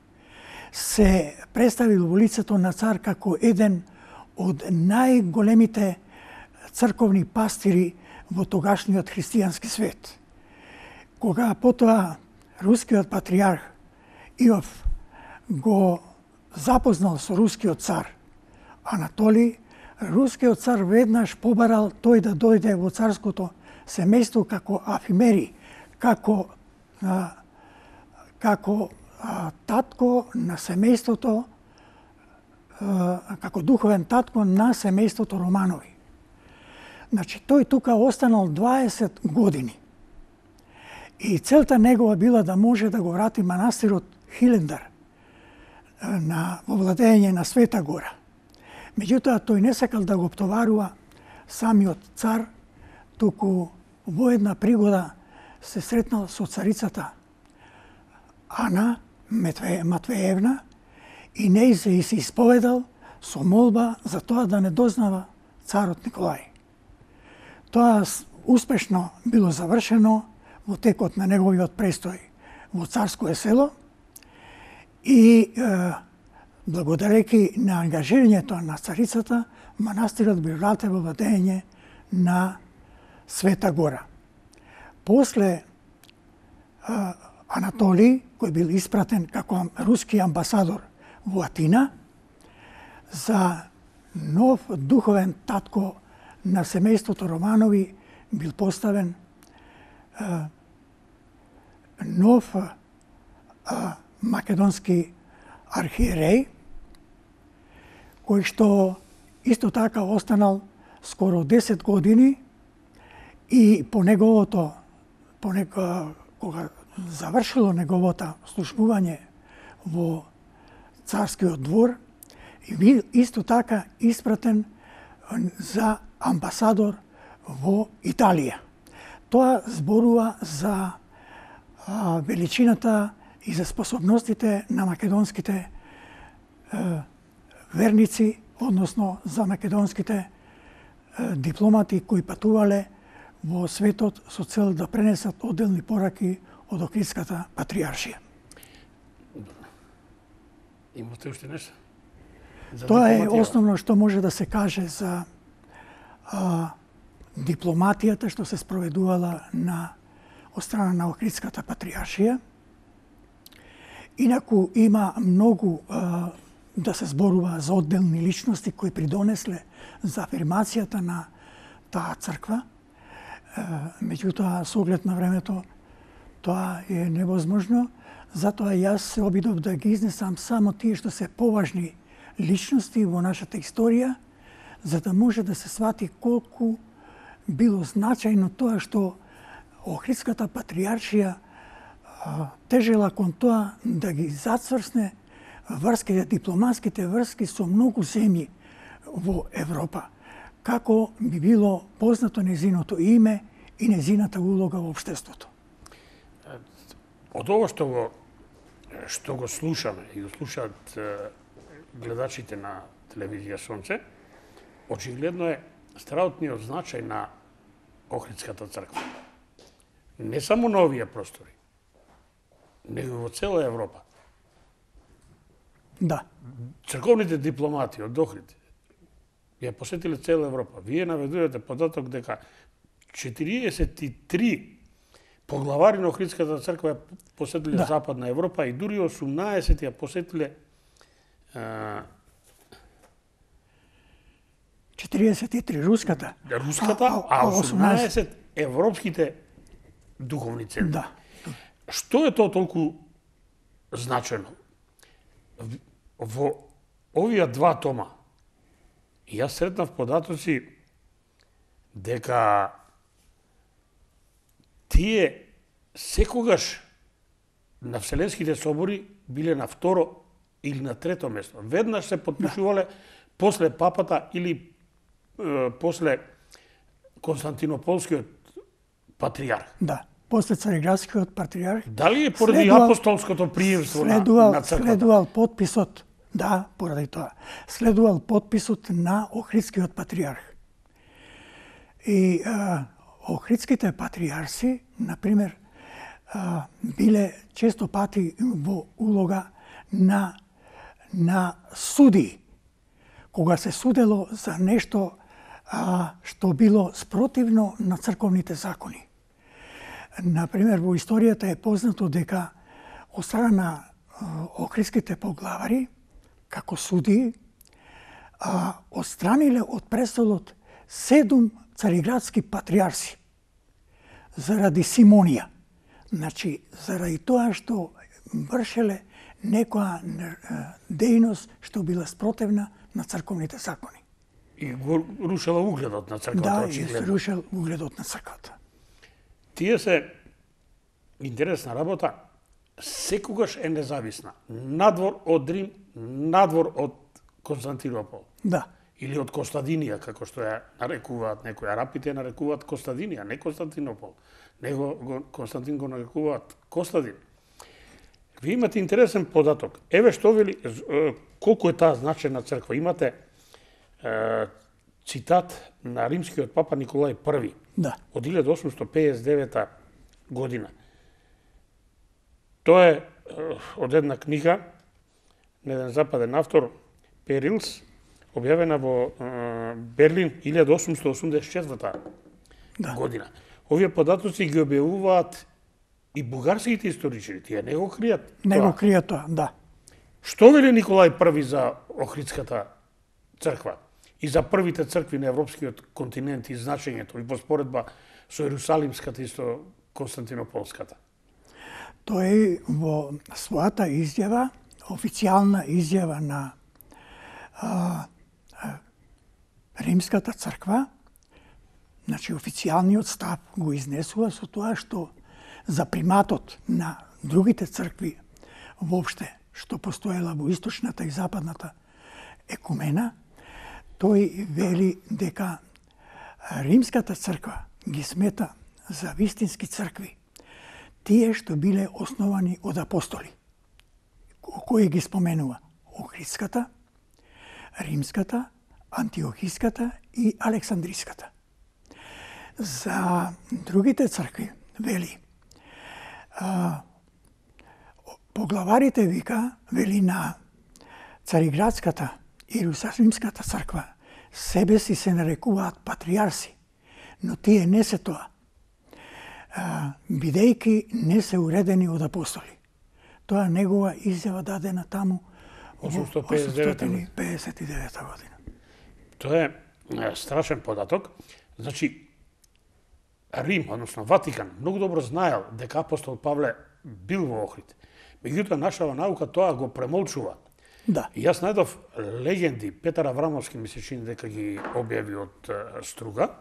се представил во лицето на цар како еден од најголемите црковни пастири во тогашниот христијански свет. Кога потоа рускиот патриарх Иов го запознал со рускиот цар Анатолий, рускиот цар веднаш побарал тој да дојде во царското семејство како афимери, како а, како а, татко на семејството, а, како духовен татко на семејството Романови. Значи, тој тука останал дваесет години. И целта негова била да може да го врати манастирот Хилендар на во владење на Света Гора. Меѓутоа, тој не сакал да го оптоварува самиот цар, туку во една пригода се сретнал со царицата Ана Матвеевна и неј се се исповедал со молба за тоа да не дознава царот Николај. Тоа успешно било завршено во текот на неговиот престој во Царское село и е, благодарејќи на ангажирањето на царицата, манастирот би вратен во владење на Света Гора. После е, Анатолий, кој бил испратен како руски амбасадор во Атина, за нов духовен татко на семејството Романови бил поставен е, нов е, македонски архиереј, кој што исто така останал скоро десет години и по неговото, по него, кога завршило неговото службување во царскиот двор, и бил исто така испратен за амбасадор во Италија. Тоа зборува за а, величината и за способностите на македонските е, верници, односно за македонските е, дипломати кои патувале во светот со цел да пренесат одделни пораки од Охридската патријаршија. Имате уште нешто? Тоа е основно што може да се каже за а, дипломатијата што се спроведувала на од страна на Охридската патријаршија. Инаку има многу а, да се зборува за одделни личности кои придонесле за афирмацијата на таа црква. А, меѓутоа, со оглед на времето, тоа е невозможно. Затоа јас се обидов да ги изнесам само тие што се поважни личности во нашата историја, за да може да се свати колку било значајно тоа што Охридската патријаршија тежела кон тоа да ги зацврсне врските, дипломатските врски со многу земји во Европа, како би било познато незиното име и незината улога во општеството. Од ово што го што го слушаме и го слушаат гледачите на телевизија Сонце, очигледно е страутниот значај на Охридската црква. Не само на овие простори, него во цела Европа. Да. Црковните дипломати од Охрид ја посетиле цела Европа. Вие наведувате податок дека четириесет и три поглавари на Охридската црква ја посетиле да. Западна Европа и дури осумнаесет ја посетиле а... четириесет и три руската, руската, а, а осумнаесет европските духовни центри. Да. Што е тоа толку значено? Во овие два тома јас сретнав податоци дека тие секогаш на Вселенските собори биле на второ или на трето место. Веднаш се подпишувале да. После папата или е, после Константинополскиот патријарх. Да, после Цариградскиот патријарх. Дали е поради следувал, апостолското приемство следувал, на, на црквата? Следувал подписот, да, поради тоа. Следувал подписот на Охридскиот патријарх. И а, Охридските патријарси, например, а, биле често пати во улога на, на суди, кога се судело за нешто а, што било спротивно на црковните закони. Например, во историјата е познато дека од страна на Охридските поглавари, како суди, а, отстраниле од престолот седум цариградски патријарси заради симонија. Значи, заради тоа што вршеле некоја дејност што била спротивна на црковните закони. И го рушела угледот на црквата. Да, и рушел угледот на црквата. Тие се интересна работа, секогаш е независна. Надвор од Рим, надвор од Константинопол. Да. Или од Костадинија, како што ја нарекуваат некои арапите, ја нарекуваат Костадинија, не Константинопол. Него Константин го нарекуваат Костадин. Ви имате интересен податок. Еве што вели колку е таа значајна црква. Имате е, цитат на римскиот папа Николај Први. Да. Од илјада осумсто пеесет и девета година. Тоа е од една книга на еден западен автор, Перилс, објавена во е, Берлин илјада осумсто осумдесет и четврта да. Година. Овие податоци ги објавуваат и бугарските историчари, тие не го кријат. Не го кријат тоа, да. Што вели Николај Први за Охридската црква и за првите цркви на европскиот континент и значењето и во споредба со Ерусалимската и со Константинополската? Тој во својата изјава, официјална изјава на а, а, Римската црква, значи официјалниот став го изнесува со тоа што за приматот на другите цркви воопште што постоела во источната и западната екумена, тој вели дека Римската црква ги смета за вистински цркви тие што биле основани од апостоли, кои ги споменува Охридската, Римската, Антиохиската и Александриската. За другите цркви, вели, а, поглаварите вика, вели на Цариградската и Иерусалимската црква, себе си се нарекуваат патриарси, но тие не се тоа, а, бидејќи не се уредени од апостоли. Тоа негова изјава дадена таму осумстотно педесет и педесет и девета година. Тоа е страшен податок. Значи, Рим, односно Ватикан, многу добро знаел дека апостол Павле бил во Охрид. Меѓутоа, нашава наука тоа го премолчува. Да. И јас најдов легенди, Петар Аврамовски ми се чини дека ги објави од Струга.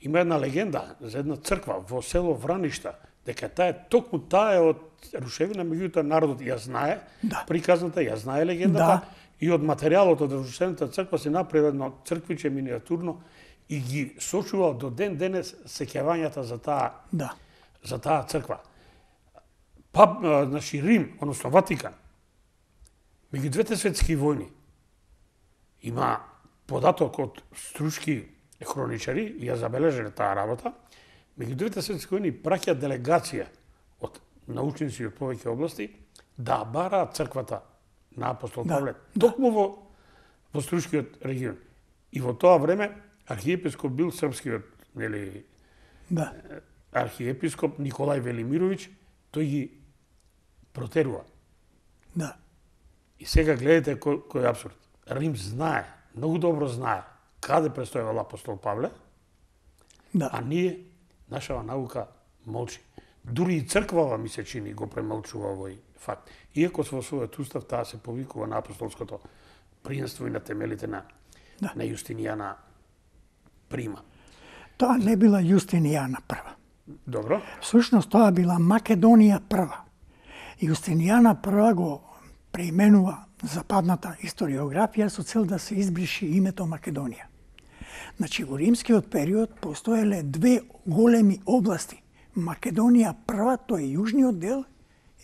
Има една легенда за една црква во село Враништа, дека таа е токму таа е од рушевина, меѓутоа народот ја знае, да. Приказната ја знае легендата, да. И од материјалот од рушената црква се направи едно црквиче миниатурно и ги сочува до ден денес сеќавањата за таа да. за таа црква. Па, значи Рим, односно Ватикан, меѓу двете светски војни има податок од струшки хроничари, ја забележале таа работа, меѓу двете светски војни праќа делегација од научници од повеќе области да бараат црквата на апостол да, Павле, да. токму во, во струшкиот регион. И во тоа време архиепископ бил српскиот, нели, да. архиепископ Николај Велимировиќ, тој ги протерува. Да. И сега гледате кој, кој е абсурд. Рим знае, многу добро знае каде престојал апостол Павле, да. А ние, нашава наука молчи. Дури и црквава ми се чини го премолчува овој факт. Иако во својот устав таа се повикува на апостолското приемство и на темелите на, да. на Јустинијана Прима. Тоа не била Јустинијана прва. Добро. Всушност тоа била Македонија прва. Јустинијана прва го преименува западната историографија со цел да се избриши името Македонија. Значи, во римскиот период постоеле две големи области. Македонија прва, тоа е јужниот дел,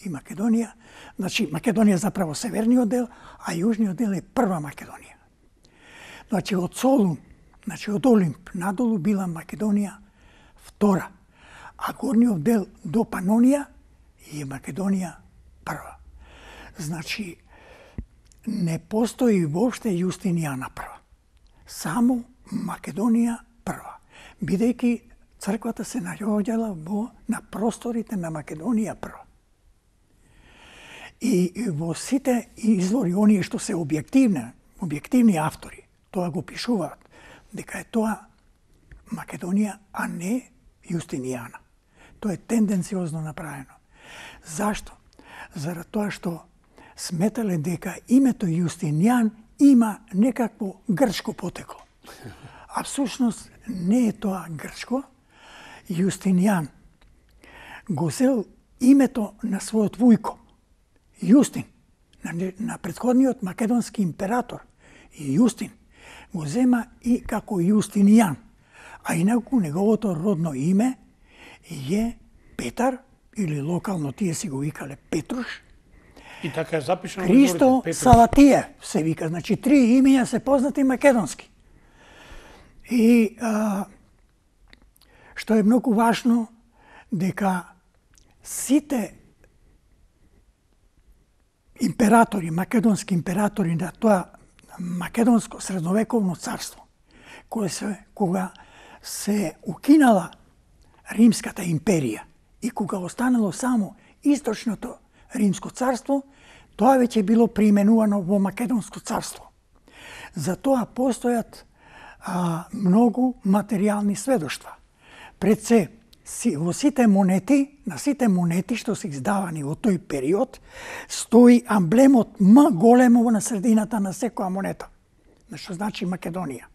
и Македонија, значи Македонија заправо северниот дел, а јужниот дел е прва Македонија. Значи, од Солун, значи од Олимп надолу била Македонија втора, а горниот дел до Панонија е Македонија прва. Значи, не постои воопште Јустинијана прва. Само Македонија прва. Бидејќи црквата се наоѓала во на просторите на Македонија прва. И во сите извори, оние што се објективни, објективни автори, тоа го пишуваат, дека е тоа Македонија, а не Јустинијана. Тоа е тенденциозно направено. Зашто? Зарад тоа што сметале дека името Јустинијан има некакво грчко потекло. А всушност не е тоа грчко. Јустинијан го зел името на својот вујко, Јустин, на, на претходниот македонски император. И Јустин го зема и како Јустинијан, а инаку неговото родно име е Петар, или локално тие си го викале Петруш. И така е запишано. Христо Салатиев се вика, значи три имења се познати македонски. И а, што е многу важно, дека сите императори, македонски императори на тоа македонско средновековно царство, кое се, кога се укинала Римската империја и кога останало само источното Римско царство, тоа веќе било преименувано во Македонско царство. За тоа постојат а, многу материјални сведоштва. Пред се, си, во сите монети, на сите монети што се издавани во тој период, стои амблемот М големо на средината на секоја монета. Што значи Македонија.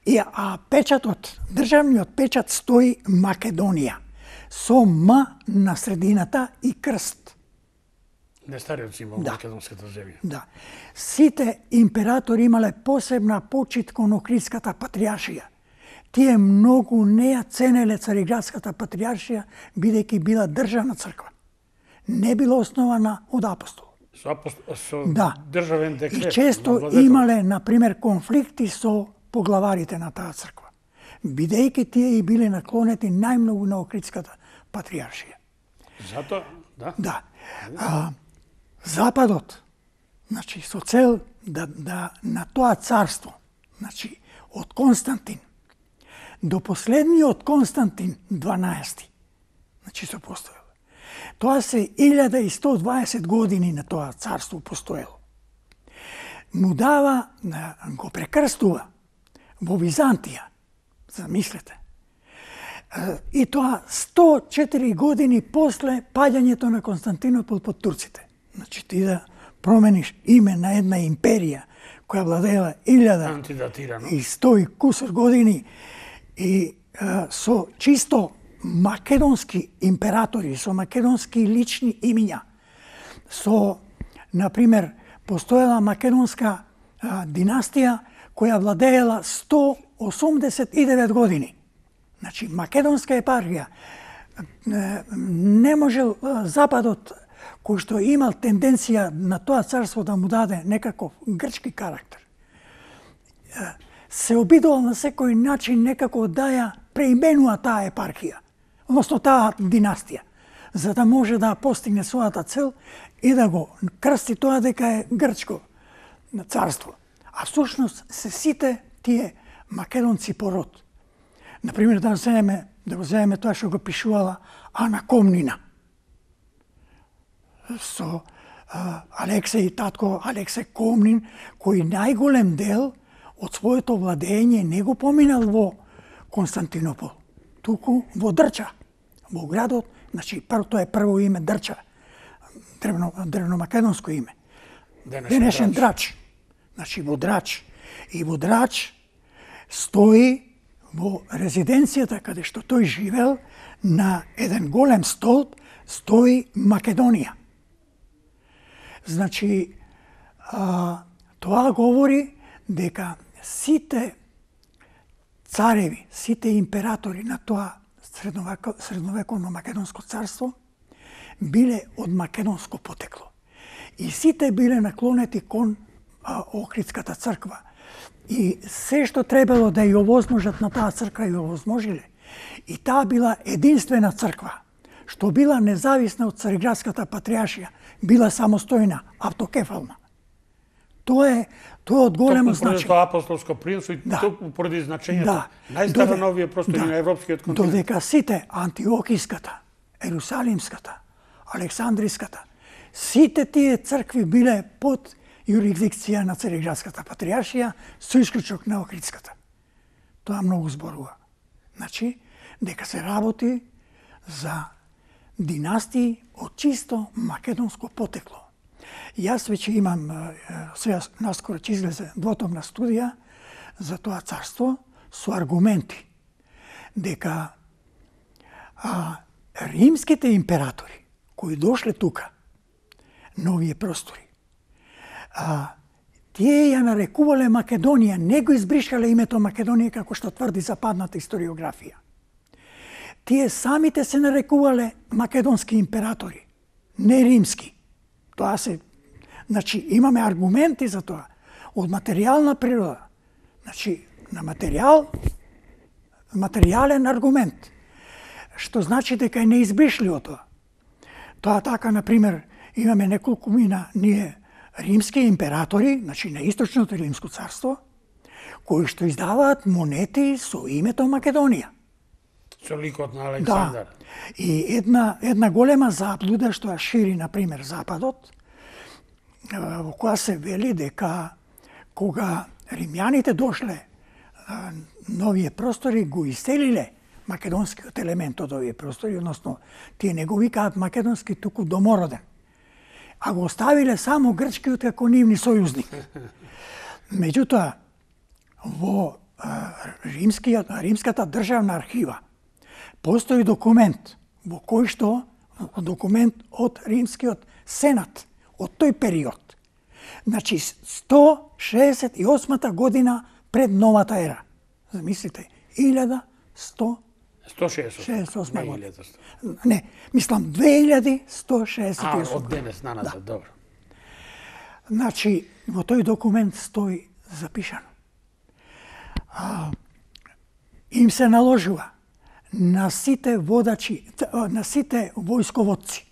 И, а печатот, државниот печат стои Македонија, со М на средината и крст. Не стариот символ да. македонската земја. Да. Сите императори имале посебна почит кон Охридската патријаршија. тие многу не ја ценеле Цариградската патриаршија, бидејќи била државна црква. Не била основана од апостол. Со, апостол, со да. државен декрет. И често имале, например, конфликти со поглаварите на таа црква, бидејќи тие и биле наклонети најмногу на Охридската патриаршија. Зато, да. Да. А, Западот, значи, со цел да, да на тоа царство, значи, од Константин до последниот Константин дванаести, значи, се постоело. Тоа се илјада и сто дваесет години на тоа царство постоело. Му дава, го прекрстува во Византија, замислете. И тоа сто четири години после паѓањето на Константинопол под турците. Значи ти да промениш име на една империја која владеела илјада и сто и кусор години и а, со чисто македонски императори, со македонски лични имиња, со, например, постоела македонска а, династија која владеела сто осумдесет и девет години. Значи, македонска епархија не можел Западот, кој што имал тенденција на тоа царство да му даде некаков грчки карактер, се обидувал на секој начин некако да ја преименува таа епархија, односно таа династија, за да може да постигне својата цел и да го крсти тоа дека е грчко царство. А всушност се сите тие македонци по род. Например, да вземе, да го вземе тоа што го пишувала Ана Комнина со а, Алексеј, татко Алексеј Комнин, кој најголем дел од своето владење не го поминал во Константинопол, туку во Дрча, во градот, значи тоа е прво име Дрча, древно, древномакедонско име. Денешен Драч. Значи во Драч. И во Драч стои во резиденцијата каде што тој живел, на еден голем столб стои Македонија. Значи, а, тоа говори дека сите цареви, сите императори на тоа средновеко, средновековно македонско царство биле од македонско потекло. И сите биле наклонети кон а, Охридската црква. И се што требало да ја овозможат на таа црква ја овозможиле. И таа била единствена црква, што била независна од Цариградската патриаршија, била самостојна, автокефална. Тоа е тоа од големо значење. Тоа апостолско принципство и да. токму поради значењето. Да. Најстара на овие простори да. на европскиот континент. Додека сите Антиохиската, Ерусалимската, Александриската, сите тие цркви биле под юрисдикција на Цариградската патриаршија, со исклучок на Охридската. Тоа многу зборува. Значи, дека се работи за династии од чисто македонско потекло. Јас веќе имам, сега наскоро ќе излезе двотомна студија за тоа царство со аргументи дека а, римските императори кои дошле тука на овие простори, а, тие ја нарекувале Македонија, не го избришале името Македонија како што тврди западната историографија. Тие самите се нарекувале македонски императори, не римски. Тоа се, значи, имаме аргументи за тоа, од материјална природа. Значи, на материјал, материјален аргумент, што значи дека е неизбришливо тоа. Тоа така, например, имаме неколку мина ние римски императори, значи на Источното римско царство, кои што издаваат монети со името Македонија. Со ликот на Александар. Да. И една, една голема заблуда што ја шири, например, Западот, во која се вели дека кога римјаните дошле на овие простори, го иселиле македонскиот елемент од овие простори, односно тие не го викаат македонски, туку домороден, а го оставиле само грчкиот како нивни сојузник. Меѓутоа, во римскиот, римската државна архива постои документ во кој што документ од римскиот сенат од тој период. Значи сто шеесет и осма година пред новата ера. Замислите, илјада сто сто шеесет шеесет и осма не година. илјада сто. Не, мислам две илјади сто шеесет и А, осма. од денес на назад, добро. Значи, во тој документ стои запишано. А, им се наложува на сите водачи, на сите војсководци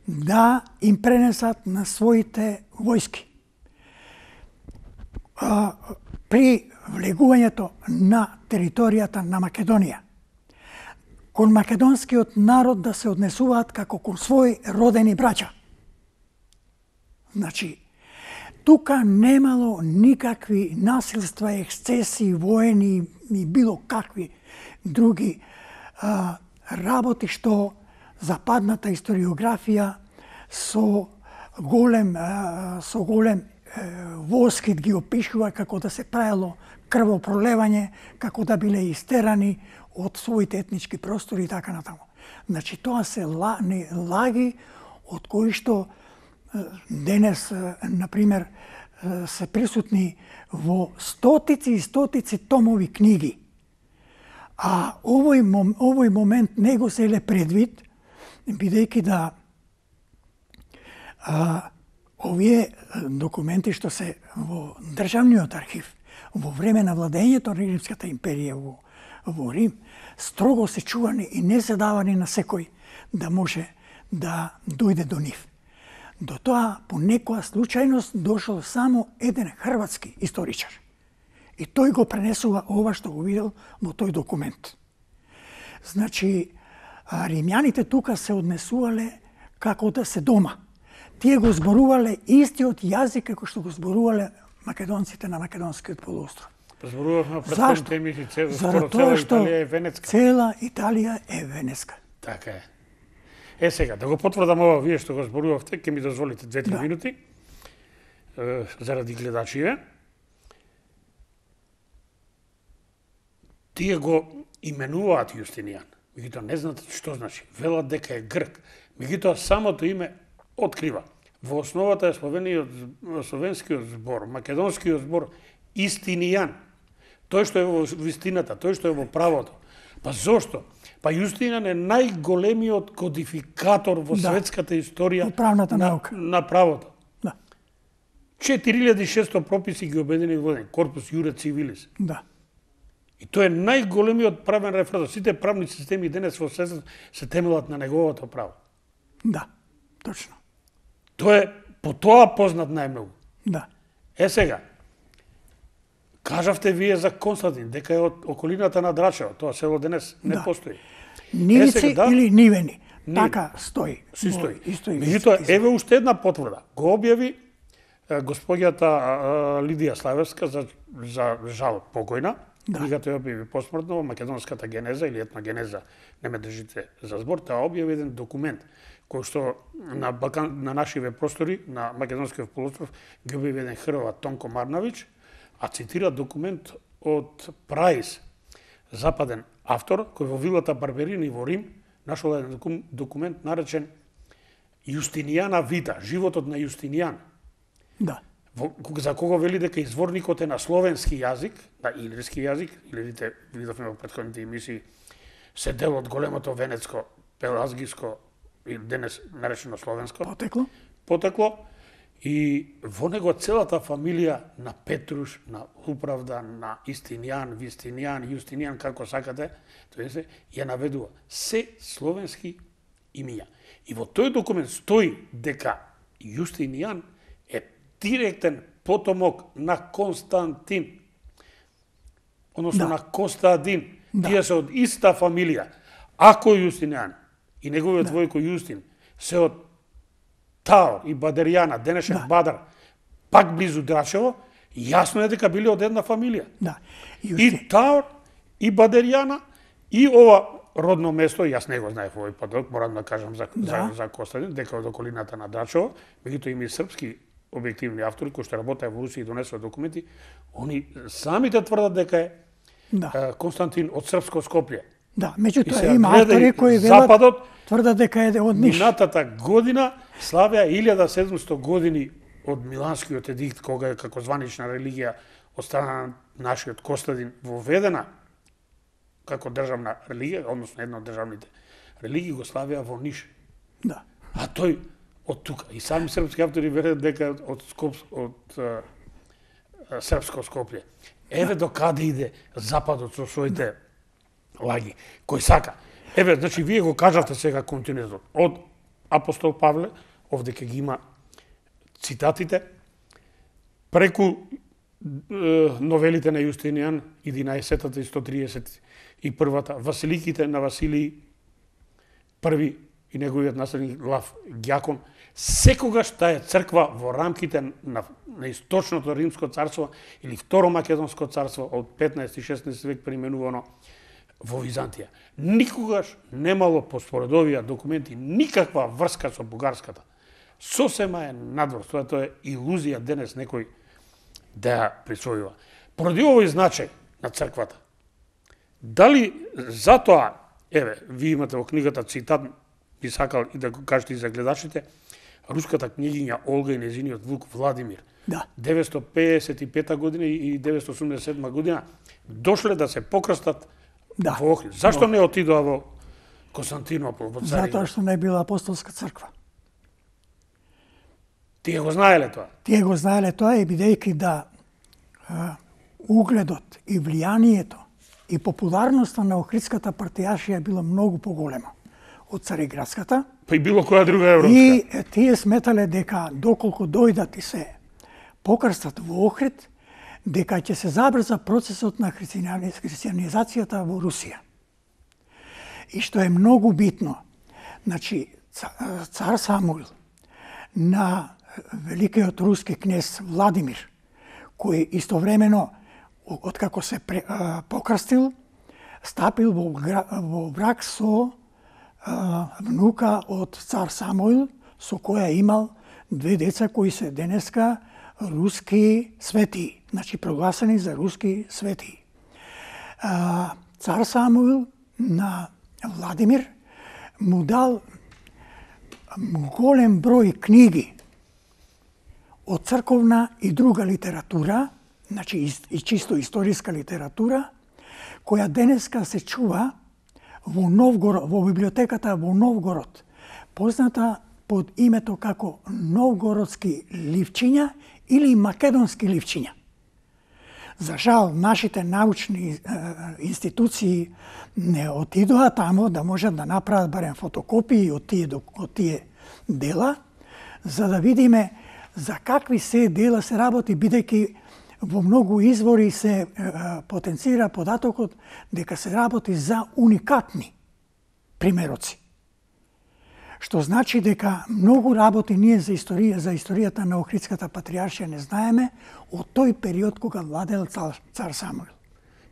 да им пренесат на своите војски а, при влегувањето на територијата на Македонија кон македонскиот народ да се однесуваат како кон своји родени браќа. Значи, тука немало никакви насилства, ексцеси, воени и било какви други а, работи што западната историографија со голем а, со голем е, воскит ги опишува како да се правело крвопролевање, како да биле истерани од своите етнички простори и така натаму. Значи тоа се ла, не, лаги од кои што денес, например, се присутни во стотици и стотици томови книги. А овој, мом, овој момент не го селе предвид, бидејќи да а, овие документи што се во Државниот архив, во време на владењето на Римската империја во, во Рим, строго се чувани и не се давани на секој да може да дојде до нив. До тоа, по некоја случајност, дошол само еден хрватски историчар. И тој го пренесува ова што го видел во тој документ. Значи, римјаните тука се однесувале како да се дома. Тие го зборувале истиот јазик како што го зборувале македонците на македонскиот полуостров. Зборувавме предходните емисии, цела, Заради цела тоа што Италија е венецка. Цела Италија е венеска. Така е. Е сега, да го потврдам ова, вие што го зборувавте, ќе ми дозволите две-три Да. минути, е, заради гледачиве. Тие го именуваат Јустинијан, меѓутоа не знаат што значи. Велат дека е грк, меѓутоа самото име открива. Во основата е словениот, словенскиот збор, македонскиот збор Истинијан. Тој што е во вистината, тој што е во правото. Па зошто? Па Јустинијан е најголемиот кодификатор во Да. светската историја Во правната на, наука. на правото. Да, четири илјади и шесто прописи ги обедини во еден корпус Јуре Цивилис. да, И тој е најголемиот правен реферат. Сите правни системи денес во светот се темелат на неговото право. да, точно. Тој е по тоа познат најмногу. Да, Е сега, кажавте вие за Константин, дека е од околината на Драчево. Тоа село денес не Да. постои. нивици Е, сега, да. или нивени. Ниви. Така стои. Си во стои. истој Меѓутоа, вистински еве уште една потврда. Го објави е, господјата а, Лидија Славевска, за, за жал покојна. Да. Книгата ја објави посмртно, македонската генеза или етногенеза, не ме држите за збор, таа објави еден документ кој што на Балкан, на нашиве простори, на македонскиот полуостров, ги објави еден Хрват Тонко Марнавиќ, а цитира документ од Праис, западен автор, кој во вилата Барберини во Рим нашол еден документ наречен Јустинијана Вита, животот на Јустинијан. Да, Во, за кого вели дека изворникот е на словенски јазик, на илирски јазик, илирите видовме во претходните емисии, се дел од големото венецко, пелазгиско, или денес наречено словенско, потекло. потекло, и во него целата фамилија на Петруш, на Управда, на Истинијан, Вистинијан, Јустинијан, како сакате, тоа се ја наведува се словенски имиња. И во тој документ стои дека Јустинијан е директен потомок на Константин, односно Да. на Костадин. Да. Тие се од иста фамилија. Ако Јустинијан и неговиот војко Јустин се од Таор и Бадеријана, денешен Да. Бадар, пак близу Драчево, јасно е дека биле од една фамилија. Да. И Јусти, Таор, и Бадеријана, и ова родно место, јас не го знаев овој подок, морам да кажам за, Да. за, за Костадин, дека од околината на Драчево, меѓутоа има и српски објективни автори кои што работеа во Русија и донесоа документи, они самите тврдат дека е да, е, Константин од српско Скопје. да. И Меѓутоа сега има гледај, автори кои велат, Западот, тврдат дека е од Ниш. минатата година славеа илјада и седумсто години од Миланскиот едикт, кога е како званична религија од страна на нашиот Костадин воведена како државна религија, односно една од државните религии, го славија во Ниш. Да. А тој од тука и сами српски автори верат дека од Скоп од а, а, српско Скопје. Еве до каде иде западот со своите лаги, кој сака. Еве, значи вие го кажавте сега континентот од апостол Павле, овде ќе ги има цитатите, преку е, новелите на Јустинијан, единаесеттата и сто триесет и првата, Василиките на Василий први и неговиот наследник Лав Ѓакон, секогаш таа црква во рамките на, на источното Римско царство или Второ Македонско царство од петнаести и шеснаести век преименувано во Византија. Никогаш немало по според овие документи никаква врска со бугарската. Сосема е надвор, тоа тоа е илузија денес некој да ја присвојува. Поради овој значај на црквата, дали затоа, еве, ви имате во книгата цитат, би сакал и да го кажете и за гледачите, руската книгиња Олга и незиниот внук Владимир, Да. деветстотини педесет и пета година и деветстотини осумдесет и седма година, дошле да се покрстат Да. во Охрид. Зашто не отидоа во Константинопол, во Цариград? Затоа што не била апостолска црква. Тие го знаеле тоа? Тие го знаеле тоа и бидејќи да а, угледот и влијанието и популарноста на Охридската партијашија било многу поголема од Цариградската. Па и било која друга европска. И е, тие сметале дека доколку дојдат и се покрстат во Охрид, дека ќе се забрза процесот на христијанизацијата во Русија. И што е многу битно, значи цар Самуил на великиот руски кнез Владимир, кој истовремено откако се пре, а, покрстил, стапил во, во брак со а, внука од цар Самуил, со која имал две деца кои се денеска руски светии, значи прогласени за руски светии. А, цар Самуил на Владимир му дал голем број книги од црковна и друга литература, значи и чисто историска литература, која денеска се чува во Новгород, во библиотеката во Новгород, позната под името како Новгородски ливчиња или македонски ливчиња. За жал, нашите научни е, институции не отидоа тамо да можат да направат барем фотокопии од тие, од тие дела, за да видиме за какви се дела се работи, бидејќи во многу извори се е, потенцира податокот дека се работи за уникатни примероци. Што значи дека многу работи ние за историја, за историјата на Охридската патријаршија не знаеме од тој период кога владел цар, цар Самуил.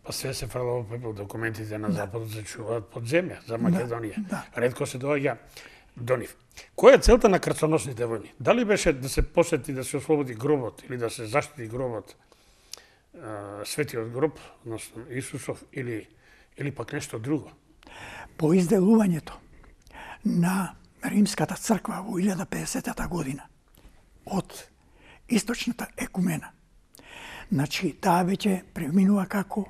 Па све се фрло во документите на Западот се чуваат под земја за Македонија. Да, да. Ретко се доаѓа до нив. Која е целта на крстоносните војни? Дали беше да се посети, да се ослободи гробот или да се заштити гробот, светиот гроб, односно Исусов, или, или пак нешто друго? По изделувањето на Римската црква во илјада педесетата година од источната екумена, значи таа веќе преминува како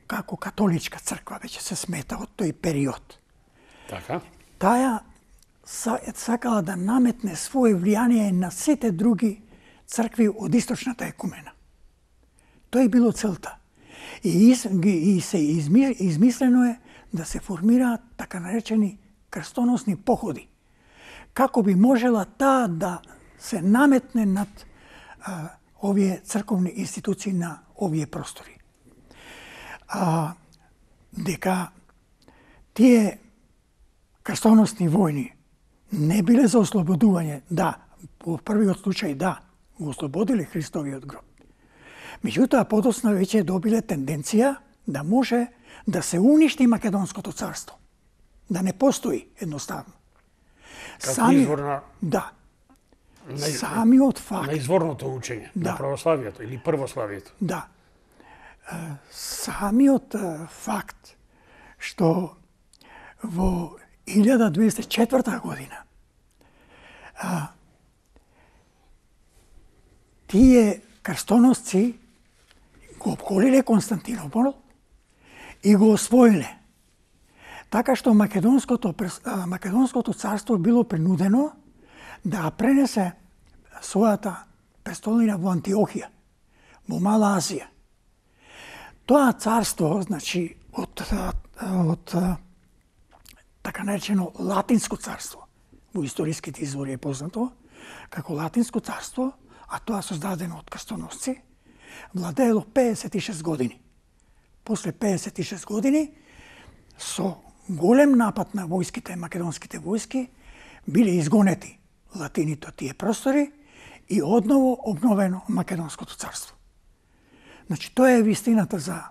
како католичка црква, веќе се смета од тој период. Така? Таа сакала да наметне свое влијание на сите други цркви од источната екумена. Тоа е било целта. И, из, и се изми, измислено е да се формираат така наречени крстоносни походи. Како би можела таа да се наметне над а, овие црковни институции на овие простори. А, дека тие крстоносни војни не биле за ослободување, да, во првиот случај да, го ослободиле Христовиот гроб. Меѓутоа, подоцна веќе добиле тенденција да може да се уништи Македонското царство. Да не постои едноставно. Како Сами, извор на... Да. На, Самиот факт. На изворното учење, Да. на православието или првославието. Да. Самиот факт што во илјада двеста и четврта година а, тие крстоносци го обколиле Константинопол и го освоиле. Така што Македонското, Македонското царство било принудено да пренесе својата престолнина во Антиохија, во Мала Азија. Тоа царство, значи, од, од така наречено Латинско царство, во историските извори е познато, како Латинско царство, а тоа создадено од крстоносци, владеело педесет и шест години. После педесет и шест години, со голем напад на војските, македонските војски, биле изгонети латините од тие простори и одново обновено Македонското царство. Значи, тоа е вистината за,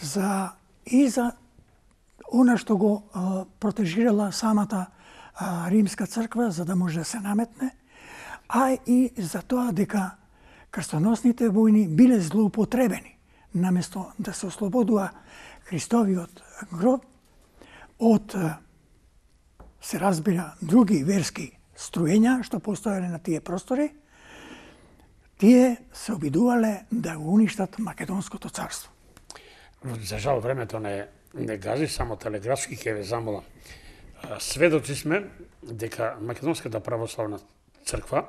за и за она што го а, протежирала самата а, Римска црква за да може да се наметне, а и за тоа дека крстоносните војни биле злоупотребени, наместо да се ослободува Христовиот гроб од, се разбира, други верски струења што постоеле на тие простори, тие се обидувале да го уништат Македонското царство. За жал, времето не, не гази, само телеграфски ќе ве замолам. Сведоци сме дека Македонската православна црква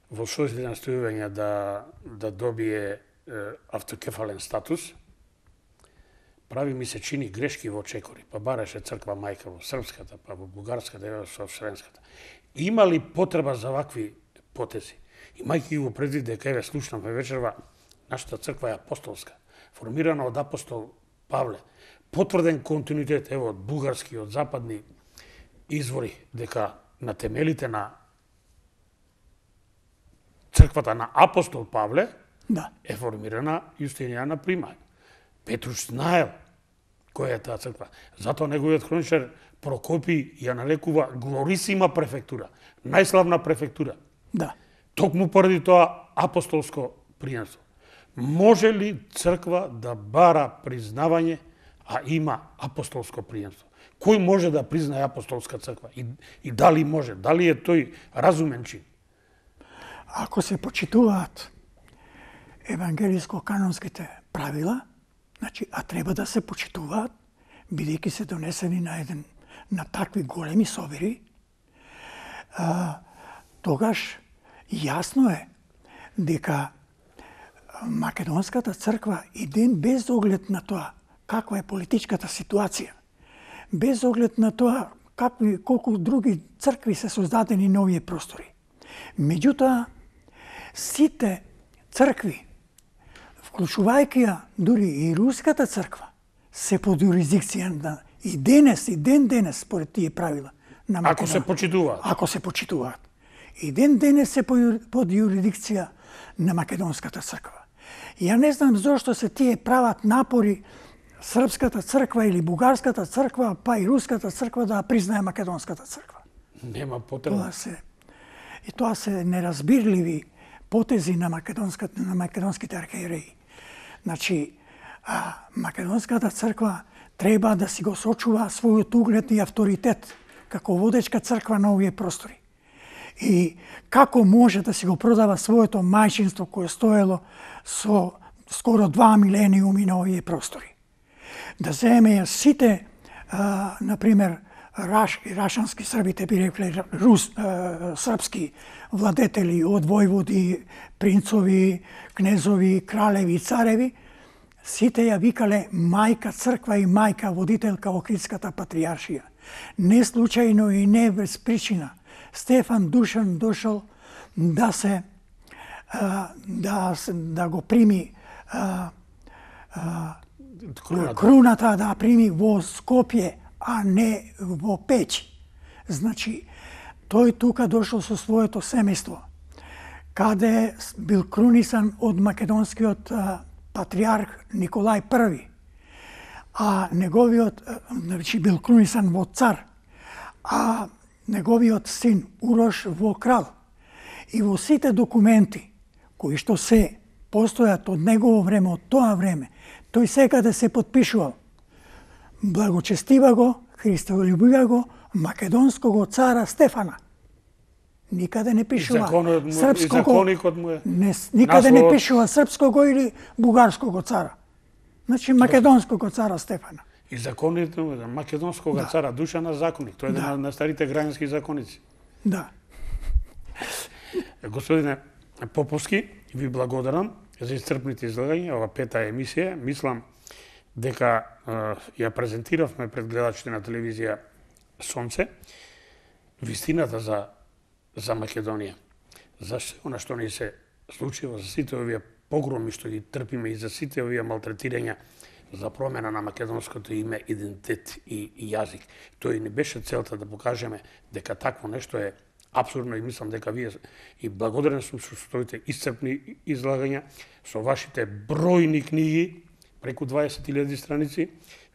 во својот настојување да, да добие е, автокефален статус, прави ми се чини грешки во чекори, па бараше црква мајка во српската, па во бугарската, и во вселенската. Има ли потреба за вакви потези? Имајќи го предвид дека еве слушнавме вечерва, нашата црква е апостолска, формирана од апостол Павле, потврден континуитет ево од бугарски, од западни извори, дека на темелите на црквата на апостол Павле да. Е формирана Јустинијана Примај. Петруш знаел која е таа црква. Затоа неговиот хроничар Прокопи ја нарекува глорисима префектура, најславна префектура. Да. Токму поради тоа апостолско приемство. Може ли црква да бара признавање, а има апостолско приемство? Кој може да признае апостолска црква? И, и дали може? Дали е тој разумен чин? Ако се почитуваат евангелиско-канонските правила, значи, а треба да се почитуваат, бидејќи се донесени на еден на такви големи собери, а, тогаш јасно е дека Македонската црква и ден без оглед на тоа каква е политичката ситуација, без оглед на тоа какви, колку други цркви се создадени на овие простори. Меѓутоа, сите цркви, вклучувајќи ја дури и Руската црква, се под юрисдикција на и денес, и ден денес, според тие правила на Македонија. Ако се почитуваат. Ако се почитуваат. И ден денес се под юрисдикција на Македонската црква. Ја не знам зошто се тие прават напори Српската црква или Бугарската црква, па и Руската црква да признае Македонската црква. Нема потреба. Тоа се, и тоа се неразбирливи потези на, македонската, на македонските архиереи. Значи, а, Македонската црква треба да си го сочува својот углед и авторитет како водечка црква на овие простори. И како може да си го продава своето мајчинство кое стоело со скоро два милениуми на овие простори. Да земе сите, а, например, Раш, рашански србите би рекле рус, а, српски владетели од војводи, принцови, кнезови, кралеви, цареви, сите ја викале мајка црква и мајка водителка Охридската патријаршија. Не случајно и не без причина Стефан Душан дошол да се а, да, да го прими а, а, круната. круната да прими во Скопје, а не во Пеќи. Значи, тој тука дошол со своето семејство, каде бил крунисан од македонскиот а, патриарх Николај Први, а неговиот, значи, бил крунисан во цар, а неговиот син Урош во крал. И во сите документи кои што се постојат од негово време, од тоа време, тој секаде се подпишувал: благочестива го, христолюбива го, македонского цара Стефана. Никаде не пишува законот српского, законикот му е. Не, никаде наслов... не пишува српского или бугарского цара. Значи македонского цара Стефана. И законите на македонского да. цара Душана законник, тој е да. на, на старите граѓански законици. Да. Господине Поповски, ви благодарам за исцрпните излагања, ова пета емисија. Мислам дека е, ја презентиравме пред гледачите на телевизија Сонце вистината за за Македонија. За се она што ни се случува, за сите овие погроми што ги трпиме и за сите овие малтретирања за промена на македонското име, идентитет и, и јазик. Тој не беше целта да покажеме дека такво нешто е апсурдно и мислам дека вие и благодарен сум со своите исцрпни излагања, со вашите бројни книги, преку дваесет илјади страници.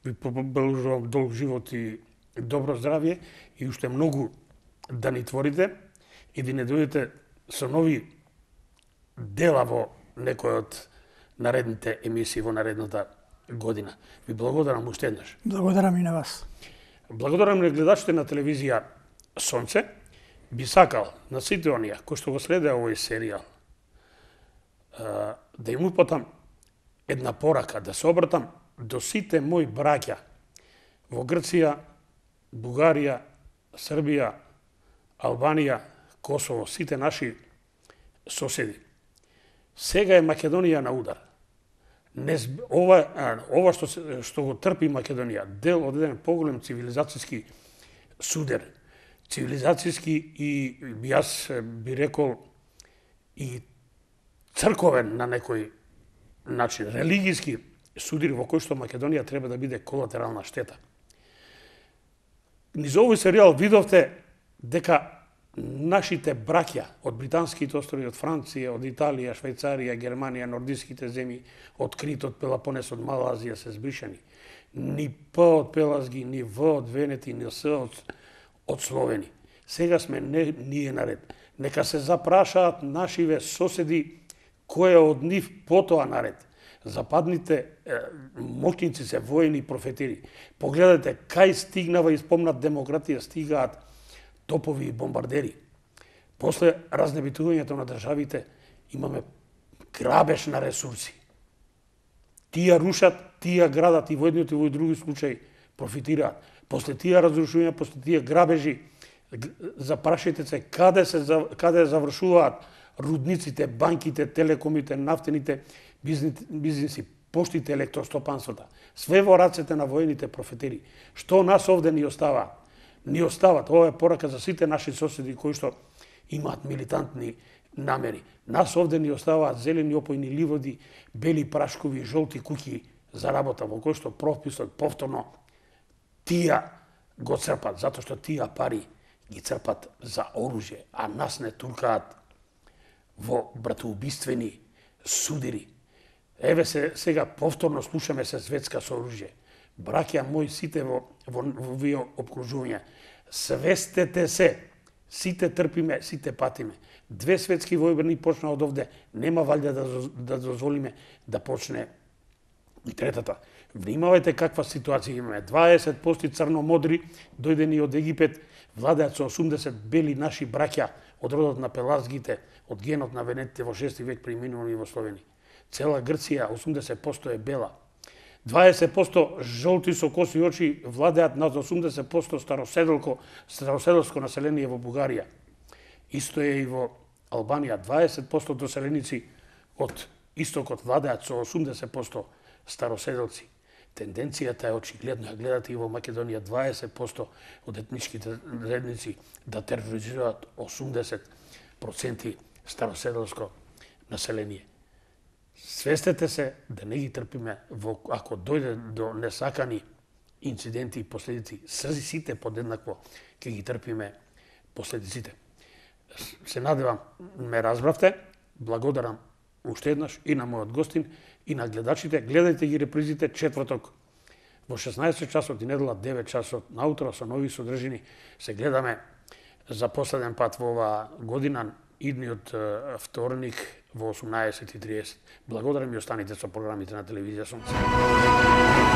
Ви побележувам долг живот и добро здравје и уште многу да ни творите и да не дојдете со нови дела во некој од наредните емисии во наредната година. Ви благодарам уште еднаш. Благодарам и на вас. Благодарам на гледачите на телевизија Сонце. Би сакал на сите оние кои што го следеа овој серијал да им упатам една порака, да се обратам до сите мои браќа во Грција, Бугарија, Србија, Албанија, Косово, сите наши соседи. Сега е Македонија на удар. Не, ова, ова што, што го трпи Македонија, дел од еден поголем цивилизацијски судер, цивилизацијски и јас би рекол и црковен на некој начин, религијски судир во кој што Македонија треба да биде колатерална штета. Низ овој серијал видовте дека нашите браќа од британските острови, од Франција, од Италија, Швајцарија, Германија, нордиските земји, од Крит, од Пелопонес, од Мала Азија се збришани. Ни П од Пелазги, ни В од Венети, ни С од, од Словени. Сега сме не, ние наред. Нека се запрашаат нашиве соседи кој е од нив потоа наред. Западните е, моќници се воени профетири. Погледате кај стигнава и спомнат демократија, стигаат топови и бомбардери. После разнебитувањето на државите имаме грабеж на ресурси. Тие рушат, тие градат и во едниот и во други случаи профитираат. После тие разрушувања, после тие грабежи, запрашајте се каде се каде завршуваат рудниците, банките, телекомите, нафтените бизниси, поштите, електростопанствата. Све во рацете на воените профетери. Што нас овде ни остава? Ни остават. Ова е порака за сите наши соседи кои што имаат милитантни намери. Нас овде ни оставаат зелени опојни ливоди, бели прашкови, жолти куќи за работа, во кој што прописот повторно тија го црпат, затоа што тија пари ги црпат за оружје, а нас не туркаат во братоубиствени судири. Еве се сега повторно слушаме се светска со оружје. Браќа мои сите во во во вие обкружувања, свестете се, сите трпиме, сите патиме. Две светски војни почна од овде, нема валјда да да дозволиме да почне и третата. Внимавајте каква ситуација имаме. дваесет проценти црномодри дојдени од Египет, владеат со осумдесет бели наши браќа од родот на пелазгите, од генот на венетите во шести век преминувани во Словенија. Цела Грција осумдесет проценти е бела. дваесет проценти жолти со коси очи владеат над осумдесет проценти староседелко, староседелско население во Бугарија. Исто е и во Албанија. дваесет проценти доселеници од истокот владеат со осумдесет проценти староседелци. Тенденцијата е очигледна. Гледате и во Македонија дваесет проценти од етничките заедници да тероризираат осумдесет проценти староседелско население. Свестете се да не ги трпиме во, ако дојде до несакани инциденти и последици, сите подеднакво ќе ги трпиме последиците. Се надевам ме разбравте. Благодарам уште еднаш и на мојот гостин и на гледачите. Гледајте ги репризите четврток во шеснаесет часот и недела девет часот наутро со нови содржини. Се гледаме за последен пат во оваа година, идниот вторник во осумнаесет и триесет. Благодарам и останите со програмите на телевизија Сонце.